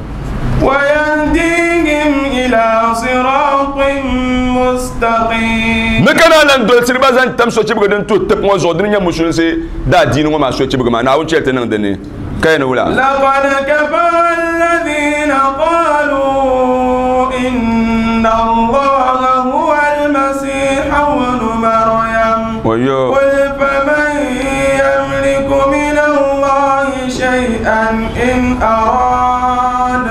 ويهديهم إلى صراط مستقيم. نكنا لن دول سيربا زان تم سوتشي بغدن تو تب مو زودن نيا مسلم سي دا دين وما سوتشي بغما نعوم تيا تنين كأنه ولا. لقد كفر الذين قالوا إن الله هو المسيح ابن مريم. قل فمن يملك من الله شيئا إن أراد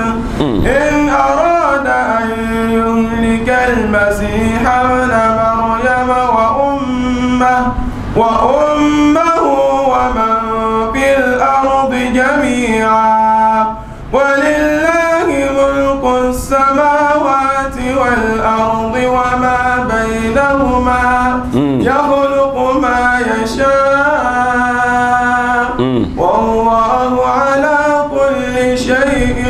يشاء والله على كل شيء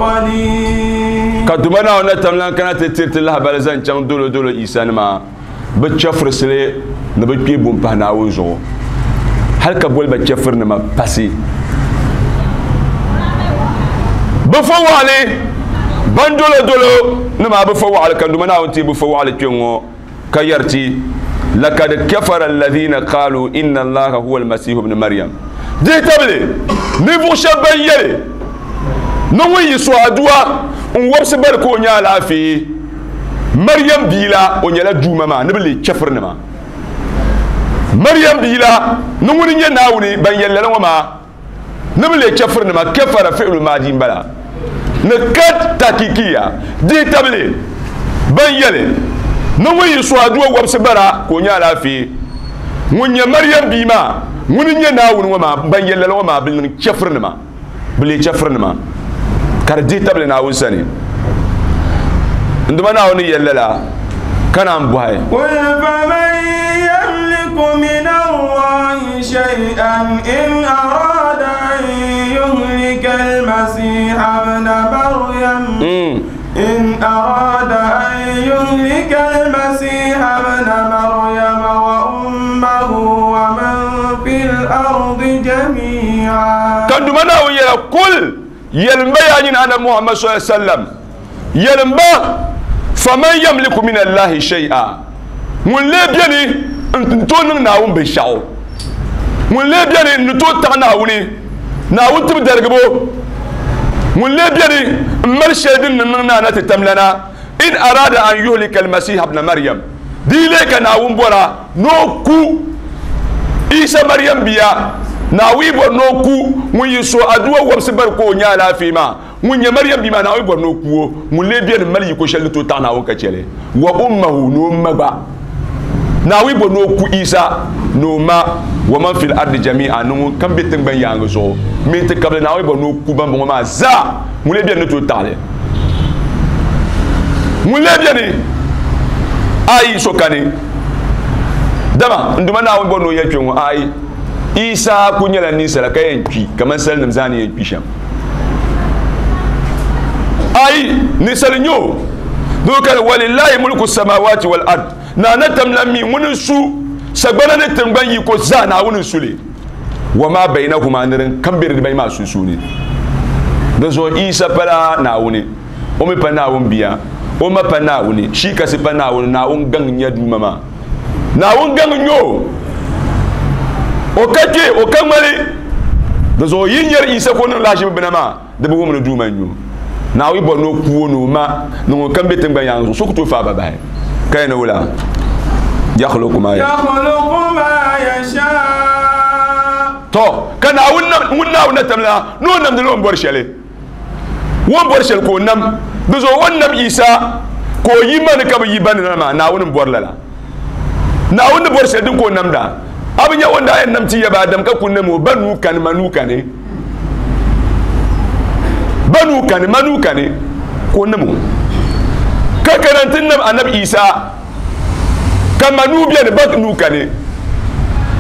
قدير. كدوما ناونا تملان كانت تيرت الله بلزان چان دولو دولو إيسان ما بتشفر سلي نبي بوم بهناون زو هل كبول بتشفر نما باسي بفو علي بندولو دولو نما بفو على كندوما ناون تي بفو على تيونغو كيرتي لقد كفر الذين قالوا إن الله هو المسيح ابن مريم دي تبلي نيفو شبان يلي نوي يسوع دوا نوبس بركو نيالا في مريم بيلا ونيالا دوما ما نبلي كفر نما مريم بيلا نوني ناوني بان يلي وما نبلي كفر نما كفر فعل ماضي بلا نكت تاكيكيا دي تبلي بان يلي نوي يسوع دوا وبس برا كونيا في ونيا مريم بيما ونيا ناون وما بان يلي وما بلن كفر نما بلي كفر نما كردي تبلي ناون سني عندما ناون يللا كان عم بوهاي. قل فمن يملك من الله شيئا إن أراد أن يهلك المسيح ابن مريم إن أراد أن يهلك المسيح ابن مريم وأمه ومن في الأرض جميعا. كان ناون يلا قل يلمبا يعني أنا محمد صلى الله عليه وسلم يلمبا فمن يملك من الله شيئا من لي بيني انتو ناون بشاو من لي بيني نتو تاع ناوني ناون تبدرغبو من لي بيني مرشدين ننا نتتملنا إن أراد أن يهلك المسيح ابن مريم دي لك ناون بورا نوكو عيسى مريم بيا ناوي بور نوكو من يسوع أدوا وبسبر كو نيالا فيما من مريم بما ناوي بور نوكو من لي بيان مالي يكو شل تو تانا وكاتشلي وأمه نوما با ناوي بور نوكو عيسى نوما ومن في الأرض جميعا نو كم بيتن بن يانغزو مين تقبل ناوي بور نوكو بان بوما زا من لي بيان تو تالي من لي بيان اي سوكاني دما nduma nawi bor no yetwe ai Isa kunyala nisala kayen ki kaman sal namzani yen kisham ai nisal nyo dokal walillahi mulku samawati wal ard na natam lammi mun su sagbana ne tangban yi ko zana woni sule wa ma bainahuma nirin kambir bai ma su su ne da zo Isa fara na woni o mi pa na won biya o ma pa na woni shi kasi pa na woni na won gan nya duma ma na won gan nyo o kake o kamale da zo yinyar Isa ko nan lashi bina ma da bu mun duma nyo na wi bo no kuwo no ma no kan be tangban yanzu so ku to fa ba ba kai na wula yakhluqu ma yasha to kana wunna wunna wunna tamla no nam da bor shele won bor shele ko nam da zo wannan Isa ko yiman ka bi yiban na ma na wunin bor lala na wunin bor shele din ko nam da abin ya wanda ayan namci ya ba dam ka kunne mu banu kan manuka ne banu kan manuka ne ko namu ka karantin nam annabi Isa ka manu biya ne bak nuka ne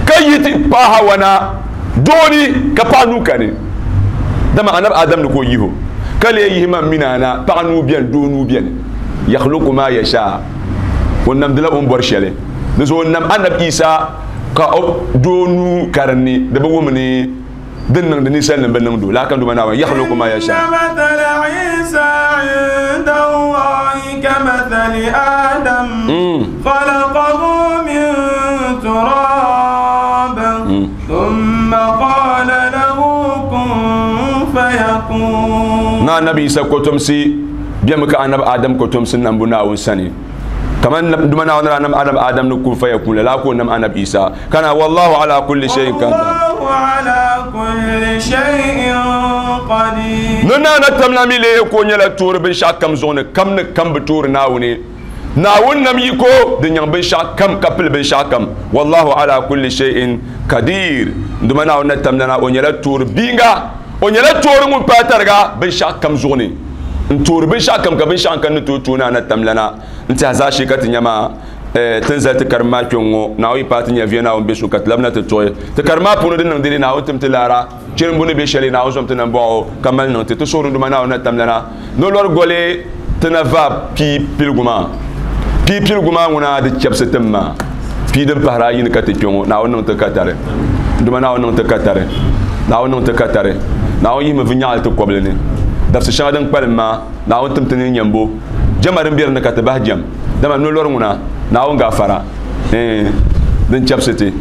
ka yiti pa hawana doni ka pa nuka ne dama annabi Adam ne ko yiho kale yihi man minana pa nu biya donu biya yakhluqu ma yasha wannan dala on borshele da so nam annabi Isa ka donu karni da bawo mene din nan da nisan nan ban nan do la kan do mana wa yakhluqu ma yasha mathala Isa inda Allah kamathali Adam khalaqahu min turab thumma qala lahu kun fayakun na nabi Isa ko tumsi biya muka annabi Adam ko tumsi nan buna wun sani كمان دمنا ونرى نم آدم آدم نكون فيكون لا كون نم أنا بإيسا كان والله على كل شيء قدير والله على كل شيء قدير ننا نتمنى ملي يكون يلا تور بنشا كم زون كم نكم بتور ناوني ناون نم يكو دنيا بنشا كم كبل بنشا كم والله على كل شيء قدير دمنا ونتمنى ونيلا تور بينغا ونيلا تور من باترغا بنشا كم زوني نتور بنشا كم كبنشا كن تو تونا نتمنى انت هزاشي كتنيما Tin zali ti karim maa kpɛŋ ŋɔ Naawuni yi paai ti nya viya Naawuni be so ka ti labina ti tuɣi ti karim maa puuni din niŋ dini Naawuni tim ti laara chirimbu ni be shɛli Naawuni zom ti nambɔɣu ka mali niŋ ti ti suhuri Duuma Naawuni na tamlana ni o lɔri goli ti na va pii piligu maa pii piligu maa ŋuna di chɛbisi tim maa pii din pahiri ayi ni ka ti kpe ŋɔ Naawuni niŋ ti katari Duuma Naawuni niŋ ti katari Naawuni niŋ ti katari Naawuni yihimi vinyaɣili ti kɔbili ni dabisi shɛŋa din kpalim maa Naawuni tim ti ni nyambo jɛma din be di ni ka ti bahi jɛm dama no lɔri ŋuna Naawuni gaafara din chɛbisi ti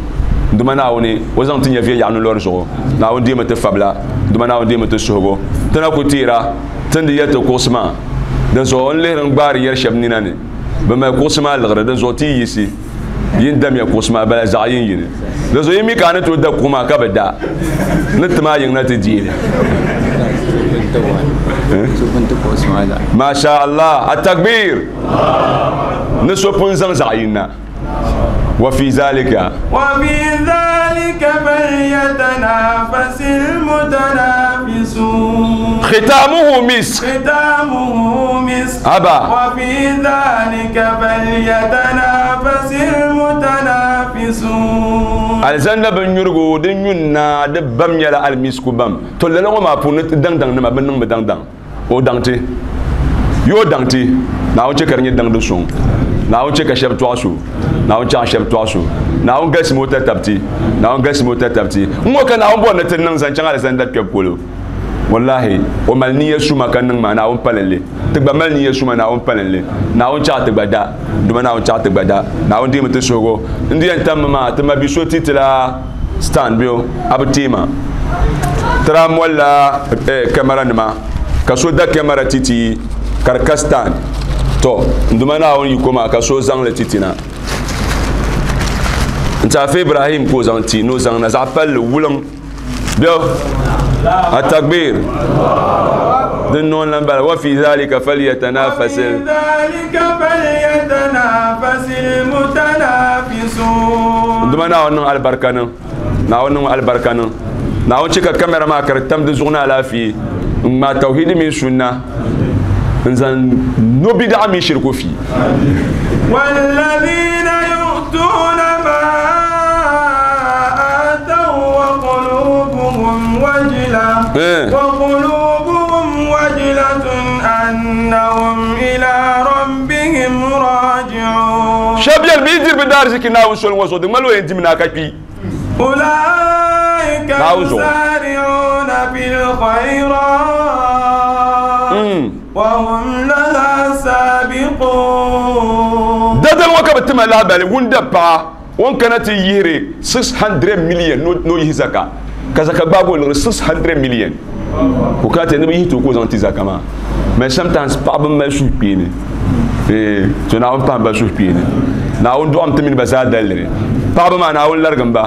Duuma Naawuni o zaŋ ti nya viɛnyɛɣu ni lɔri zuɣu Naawuni deemi ti fabila Duuma Naawuni deemi ti suhigu ti na ku teera ti ni di yɛli ti kuɣusi maa din zuɣu n lihiri n gbaari yɛri shɛba nina ni bɛ mali kuɣusi maa liɣiri din zuɣu ti yi yiɣisi yin damiya kuɣusi maa bala zaɣ yin yini din zuɣu yi mi ka a ni tooi da kuɣu maa ka bi da ni ti maa yiŋ na ti deeli Masha Allah atakbir ni so pun zaŋ zaɣ yin na wa fi zalika wa fi zalika falyatanafasil mutanafisun khitamuhu misk khitamuhu misk aba wa fi zalika falyatanafasil mutanafisun alzanda bin nyurgu din nyunna di bam nyɛla almisku bam to lala ŋɔ maa puuni daŋ daŋ nima bin niŋ bi daŋ daŋ o daŋ ti yo daŋ ti Naawuni chɛ ka di nyɛ daŋdi suŋ Naawuni chɛ ka shɛba tɔɣiso Naawuni chɛ ka shɛba tɔɣiso Naawuni galisi o tatabti Naawuni galisi o tatabti n ŋɔ ka Naawuni bɔri ni ti niŋ zaŋ chaŋ alizanda kpɛbu polo wallahi o mali niya suma ka niŋ maa Naawuni palinli ti gba mali niya suma Naawuni palinli Naawuni chɛ ka ti gba da Duuma Naawuni chɛ ka ti gba da Naawuni deemi ti suhigu n di yɛn tammi maa ti ma bi so ti ti la stand bɛ a bi teema ti daa molila kamara nima ka so da kamara titi ka di ka stand to n Duuma Naawuni yiko maa ka so zaŋli titi na n ti Afa Ibrahim ka o zaŋ ti ni o zaŋ na zaɣ palli wuliŋ bɛ atakbir din niŋ lan bala wa fi zalika falyatanafasil Duuma Naawuni niŋ alibarika niŋ Naawuni niŋ alibarika niŋ Naawuni chɛ ka kamara maa ka di tam di zuɣu ni alaafee n ŋmaa tawhidi mini sunna n zaŋ no bidaɣa mini shiriku fi والذين يؤتون ما آتوا وقلوبهم وجلة وقلوبهم وجلة أنهم إلى ربهم راجعون شبيل بيدير بدار زكي ناو سول وزو دي مالو يندي منا كاكي أولئك يسارعون في الخيرات وهم لها سابقون دادل وكا بتما لا بالي وندا با وان كانت يهري 600 مليون نو يهزكا كزكا باغو 600 مليون وكانت نبي يهتو كو زانتي زكا ما mais sometimes paɣaba mali suhukpeeni to Naawuni paɣaba mali suhukpeeni Naawuni dɔɣim ti mini ba zaa daliri paɣaba maa Naawuni larigim ba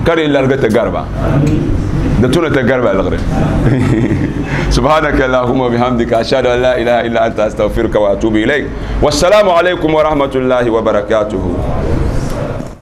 ka di larigi ti gari ba di tuni ti gari ba liɣiri subhanaka allahumma bihamdika ashhadu an la ilaha illa anta astaghfiruka wa atubu ilayk wassalamu alaykum wa rahmatullahi wa barakatuhu.